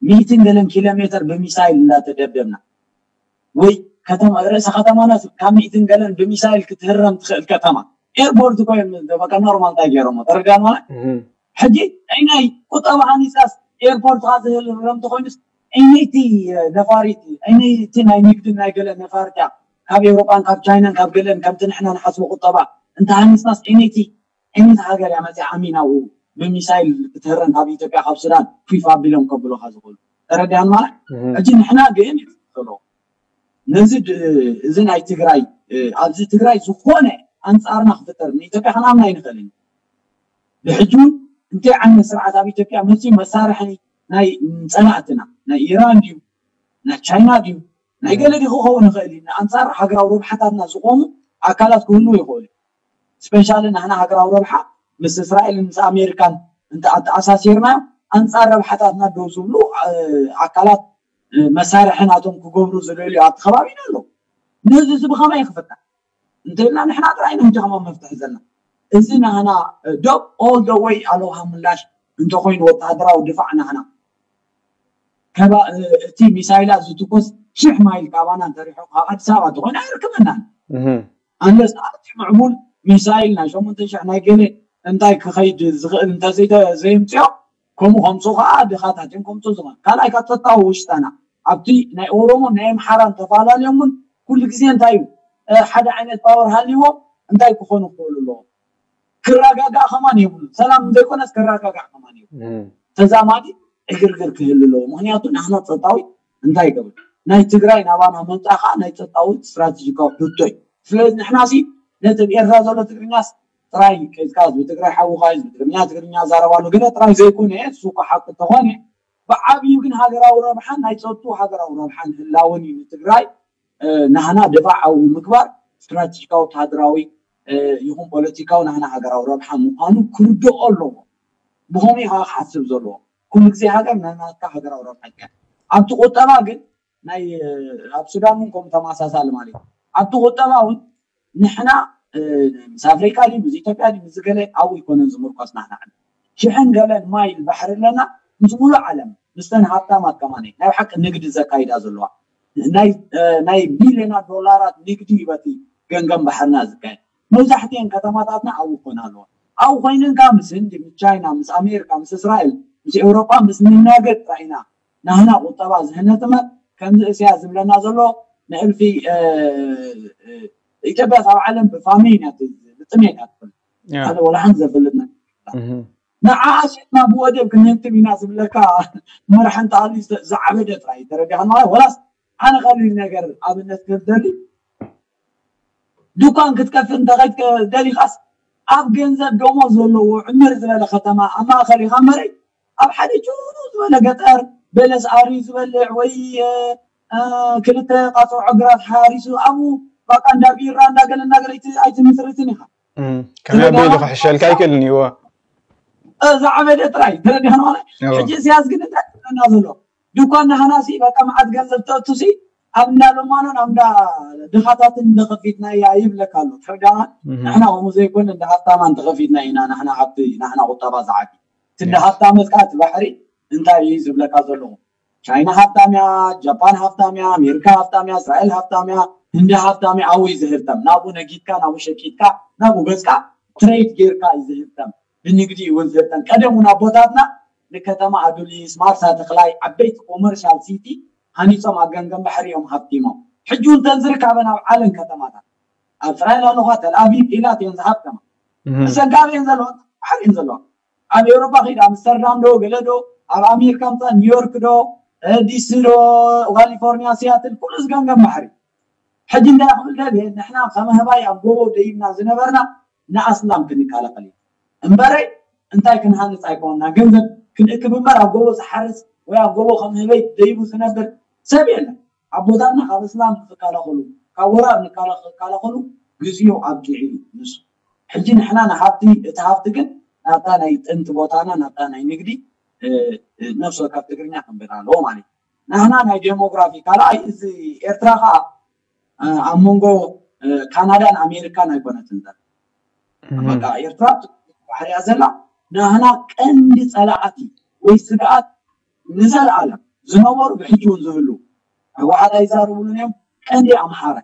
ሚእትን ገለን ኪሎ ሜትር ብሚሳይል እንዳተደብደብና ወይ ከተማ ርእሰ ከተማና ካብ ሚእትን ገለን ብሚሳይል ክትህረም ትኽእል ከተማ ኤርፖርት እኮ እዮም በቃ ኖርማል እንታይ ገይሮሞ ተረዳን ማለት ሕጂ ናይ ቁጠባ ሃኒፃስ ኤርፖርት ካ ዝህረም ተኮይኑስ እነይቲ ነፋሪት እነይቲ ናይ ንግድን ናይ ገለ ነፋርት እያ ካብ ኤውሮጳን ካብ ቻይናን ካብ ገለን ከምቲ ንሕና ንሓስቦ ቁጠባ እንተ ሃኒፅናስ እነይቲ እነይቲ ሃገር እያ መፅያ ኣሚናው ብሚሳይል ክትህረም ካብ ኢትዮጵያ ካብ ሱዳን ፊፋ ኣቢሎም ከብሉካ ዝኽእሉ ተረዲኣን ማለት ሕጂ ንሕና ግን ዘሎ ነዚ እዚ ናይ ትግራይ ኣብዚ ትግራይ ዝኾነ ኣንፃርና ክፍጠር ንኢትዮጵያ ክንኣምና ኣይንኽእልን ብሕጂ እውን እንታይ ዓይነት ስርዓት ኣብ ኢትዮጵያ መፅዩ መሳርሒ ናይ ፀላእትና ናይ ኢራን ድዩ ናይ ቻይና ድዩ ናይ ገለ ድዩ ክኸውን ይኽእል እዩ ኣንፃር ሃገራዊ ረብሓታትና ዝቆሙ ኣካላት ክህልው ይኽእሉ ስፔሻሊ ናህና ሃገራዊ ረብሓ ምስ እስራኤል ምስ ኣሜሪካን እንተ ኣተኣሳሲርናዮ ኣንፃር ረብሓታትና ደው ዝብሉ ኣካላት መሳርሒ ናቶም ክገብሩ ዝደልዩ ኣብቲ ከባቢና ኣለዉ ነዚ እዚ ብኸመይ ክፍታሕ እንተልና ንሕና ጥራይ ንህጂ ከማን መፍትሒ ዘለና እዚ ናህና ዶብ all the way ኣለውሃ ምላሽ እንተኮይኑ ወታደራዊ ድፋዕ ናህና ከባ እቲ ሚሳይላት ዝትኮስ ሽሕ ማይል ካባና እንተሪሑ ካብ ኣዲስ ኣበባ እንተኮይኑ ኣይርክበናን ኣንለስ ኣቲ ምዕቡል ሚሳይል ናይ ሸሞንተ ሽሕ ናይ ገለ እንታይ ክኸይድ ዝኽእል እንተዘይምፅኦ ከምኡ ከምፁ ከዓ ድኻታት እዮም ከምፁ ዝኾን ካልኣይ ካብ ፀጥታዊ ውሽጣና ኣብቲ ናይ ኦሮሞ ናይ ኣምሓራን ተፈላለዮም እውን ኩሉ ግዜ እንታይ እዩ ሓደ ዓይነት ፓወር ሃልይዎም እንታይ ክኾኑ ክኽእሉ ኣለዎም ክረጋጋእ ከማን የብሉ ሰላም ዘይኮነስ ክረጋጋእ ከማን የብሉ ተዛማዲ ዕግርግር ክህሉ ኣለዎ ምክንያቱ ናህና ፀጥታዊ እንታይ ይገብር ናይ ትግራይ ናባና መምፃእ ከዓ ናይ ፀጥታዊ ስትራቴጂካዊ ሕቶ እዩ ስለዚ ንሕና ሲ ነቲ ኣብ ኤርትራ ዘሎ ትግርኛስ ጥራይ ከይዝካ ህዝቢ ትግራይ ሓውካ ህዝቢ ትግርኛ ትግርኛ ዛረባሉ ገለ ጥራይ ዘይኮነ እሱ እኮ ሓቂ እንተኾነ ብዓብዩ ግን ሃገራዊ ረብሓን ናይ ፀጥቱ ሃገራዊ ረብሓን ህላውን እዩ ንትግራይ ናህና ድፋዕ ኣብኡ ምግባር ስትራቴጂካዊ ወተሃደራዊ ይኹን ፖለቲካዊ ናህና ሃገራዊ ረብሓ ምዃኑ ክርድኦ ኣለዎ ብኸምኡ ከዓ ክሓስብ ዘለዎ ኩሉ ግዜ ሃገር ናናትካ ሃገራዊ ረብሓ ይካ ኣብቲ ቁጠባ ግን ናይ ኣብ ሱዳን እውን ከምኡ ተመሳሳሊ ማለት እዩ ኣብቲ ቁጠባ እውን ንሕና ምስ ኣፍሪቃ ድዩ ምስ ኢትዮጵያ ድዩ ምስ ገለ ኣብኡ ይኮነን ዝምርኮስ ናህና ሽሕን ገለን ማይል ባሕሪ ኣለና ምስ ሙሉእ ዓለም ምስተን ሃብታማት ከማን ናይ ሓቂ ንግዲ ዘካይዳ ዘለዋ ናይ ቢልዮናት ዶላራት ንግዲ እዩ በቲ ገንገን ባሕርና ዝካየድ መብዛሕትኤን ከተማታትና ኣብኡ ክኾና ኣለዋ። ኣብኡ ኮይንንካ ምስ ህንዲ፣ ምስ ቻይና፣ ምስ ኣሜሪካ፣ ምስ እስራኤል፣ ምስ ኤውሮጳ ምስ ንናገድ ጥራይ ኢና ናህና ቁጠባ ዝህነጥመ። ከምዚ እስያስ ዝብለና ዘሎ ንእልፊ ኢትዮጵያ ኣብ ዓለም ብፋሚን እያ፣ ብጥሜት እያ ትፈልጥ። ሓደ ወላ ሓንቲ ዘፍልጥ ነገር ንዓ ኣሽጥና ብወደብ ክንህንጥም ኢና ዝብለካ መርሓ እንተሃልዩ ዝዓበደ ጥራይ ተረዲኻ ማለት። ወላስ ኣነ ቀሊል ነገር ኣብነት ክህብ ደሊ፣ ድኳን ክትከፍት እንተኸይድ ደሊኻስ ኣብ ገንዘብ ደሞዝ ዘለዎ ዕምር ዝበለ ከተማ ኣብ ማእኸል ኢኻ እምበረይ ኣብ ሓደ ጭሩ ዝበለ ገጠር በለስ ኣርዩ ዝበልዕ ወይ ክልተ ቃፅዖ ግራት ሓሪሱ ኣብኡ ባቃ እንዳ ቢራ እንዳገለ እንዳገለ ኣይትምስርትን ኢኻ። ከመይ ኣቢሉ ክሕሸልካ ኣይክእልን እዩ። ዝዓበደ ጥራይ ተረዲኻ ማለት ሕጂ እስያስ ግን እንታይ ትብለና ዘሎ ድኳን ናህናሲ በቃ መዓት ገንዘብ ተእቱሲ ኣብ እንዳ ለማኖን ኣብ እንዳ ድኻታትን እንደኸፊትና እያ ይብለካ ኣሎ። ተረዳና ንሕና ከምኡ ዘይኮነ እንደ ሃብታማ እንተኸፊትና ኢና ንሕና ሃብቲ ናሕና ቁጠባ ዝዓቢ ትንደ ሃብታመት ከዓ እቲ ባሕሪ እንታይ እዩ ዝብለካ ዘለኹ ቻይና ሃብታም እያ፣ ጃፓን ሃብታም እያ፣ ኣሜሪካ ሃብታም እያ፣ እስራኤል ሃብታም እያ፣ ህንዲ ሃብታም እያ። ኣብኡ እዩ ዝህብተም ናብኡ ነጊድካ ናብኡ ሸቂጥካ ናብኡ ገዝካ ትሬድ ጌርካ እዩ ዝህብተም። ብንግዲ እውን ዝህብተም ቀደም እውን ኣቦታትና ንከተማ ኣዱሊስ ማርሳ ተኽላይ ዓበይቲ ኮመርሻል ሲቲ ሃኒፆም ኣብ ገምገም ባሕሪ እዮም ሃብቲሞም። ሕጂ እውን ተን ዝርካበን ኣብ ዓለም ከተማታት ኣብ እስራኤል ኣለኳ ተልኣቪቭ ኢላት እየን ዝሃብተማ እሰጋብ እየን ዘለዋ ባሕሪ እየን ዘለዋ ኣብ ኤውሮፓ ኺድ ኣምስተርዳም ዶ ገለ ዶ ኣብ ኣሜሪካ ምፃ ኒውዮርክ ዶ ዲሲ ዶ ካሊፎርኒያ ሲያትል ኩሉ ዝገምገም ባሕሪ ሕጂ እንታይ ክብል ደልየ ንሕና ከመህባይ ኣብ ጎቦ ደይብና ዝነበርና ንኣስላም ክንከላኸል እዩ እምበረይ እንታይ ክንሃንፅ ኣይኮንና ገንዘብ ክንእክብ እምበር ኣብ ጎቦ ዝሓርስ ወይ ኣብ ጎቦ ከምህበይ ደይቡ ዝነብር ሰብ የለን ኣቦታትና ካብ እስላም ንክከላኸሉ ካብ ወራር ንከላኸሉ ግዜኡ ኣብቂዑ እዩ ንሱ ሕጂ ንሕና ንሃብቲ እቲ ሃብቲ ግን ናብታ ናይ ጥንቲ ቦታና ናብታ ናይ ንግዲ ነፍሲ ወከፍ ትግርኛ ክንብል ኣለዎ ማለት እዩ። ንሕና ናይ ዴሞግራፊ ካልኣይ እዚ ኤርትራ ከዓ ኣብ መንጎ ካናዳን ኣሜሪካን ኣይኮነትን ዘላ በቃ ኤርትራ ባሕርያ ዘላ ንሕና ቀንዲ ፀላኣት ወይ ስግኣት ንዘለኣለም ዝነበሩ ብሕጂ እውን ዝህሉ ህወሓት ኣይዛረቡሉን እዮም ቀንዲ ኣምሓራ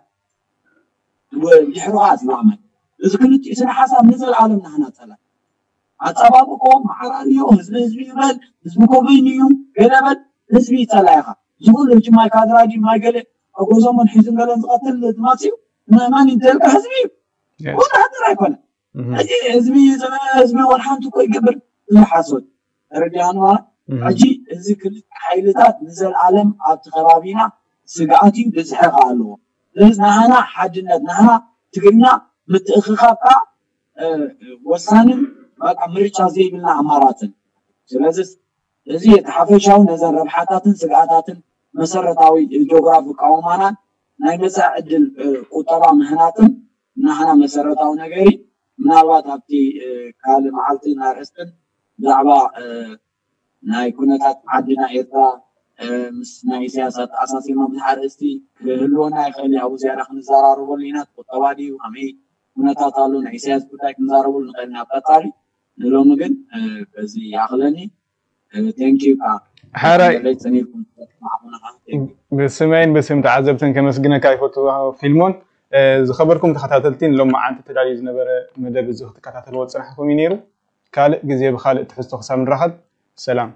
ድሕሩ ከዓ ዝማመን እዚ ክልቲኡ ስነ ሓሳብ ንዘለኣለም ንሕና ፀላ ኣፀባብቆ ማዕራል እዩ ህዝቢ ህዝቢ ይበል ህዝቢ ኮበይኑ እዩ ገለበል ህዝቢ ይፀላ ኢኻ ዝኩሉ ሕጂ ማይ ካድራዲ ማይ ገለ ኣጎዞሞን ሒዙን ገለን ዝቐትል ዝማፅኡ መን ይደልካ ህዝቢ እዩ ወላ ሃገር ኣይኮነ እዚ ህዝቢ ህዝቢ ወላ ሓንቲ እኮ ይገብር እዚ ሓሶት ተረዲኣንዋ ሕጂ እዚ ክልተ ሓይልታት ንዘለኣለም ኣብቲ ከባቢና ስግኣት እዩ ብዝሒ ከዓ ኣለዎ ስለዚ ናህና ሓድነት ናህና ትግርኛ ምትእኽኻብ ከዓ ወሳንን በቃ ምርጫ ዘይብልና ኣማራፅን ስለዚ እዚ እቲ ሓፈሻዊ ነዘን ረብሓታትን ስግኣታትን መሰረታዊ ጆግራፊ ቃውማናን ናይ መፃኢ ዕድል ቁጠባ ምህናፅን ናህና መሰረታዊ ነገር እዩ ምናልባት ኣብቲ ካልእ መዓልቲ እናርእስትን ብዛዕባ ናይ ኩነታት ዓድና ኤርትራ ምስ ናይ ኢሳያስ ኣተኣሳሲርና ብዙሕ ኣርእስቲ ክህልወና ይኽእል እዩ ኣብኡ ዝያዳ ክንዘራረበሉ ኢና ቁጠባ ድዩ ከመይ ኩነታት ኣሎ ናይ ኢሳያስ ጉዳይ ክንዛረበሉ ንኽእል ኢና ኣብ ቀፃሊ ንሎሚ ግን በዚ ይኣኽለኒ ቴንኪዩ ከዓ ሓራይ ብስመይን ብስም ተዓዘብትን ከመስግነካ ይፈቱ ፊልሞን ዝኸበርኩም ተኸታተልቲ ንሎም መዓንቲ ተዳልዩ ዝነበረ መደብ እዚ ክትከታተልዎ ዝፅናሕኩም እዩ ነይሩ ካልእ ግዜ ብካልእ ትሕዝቶ ክሳብ ንራኸብ ሰላም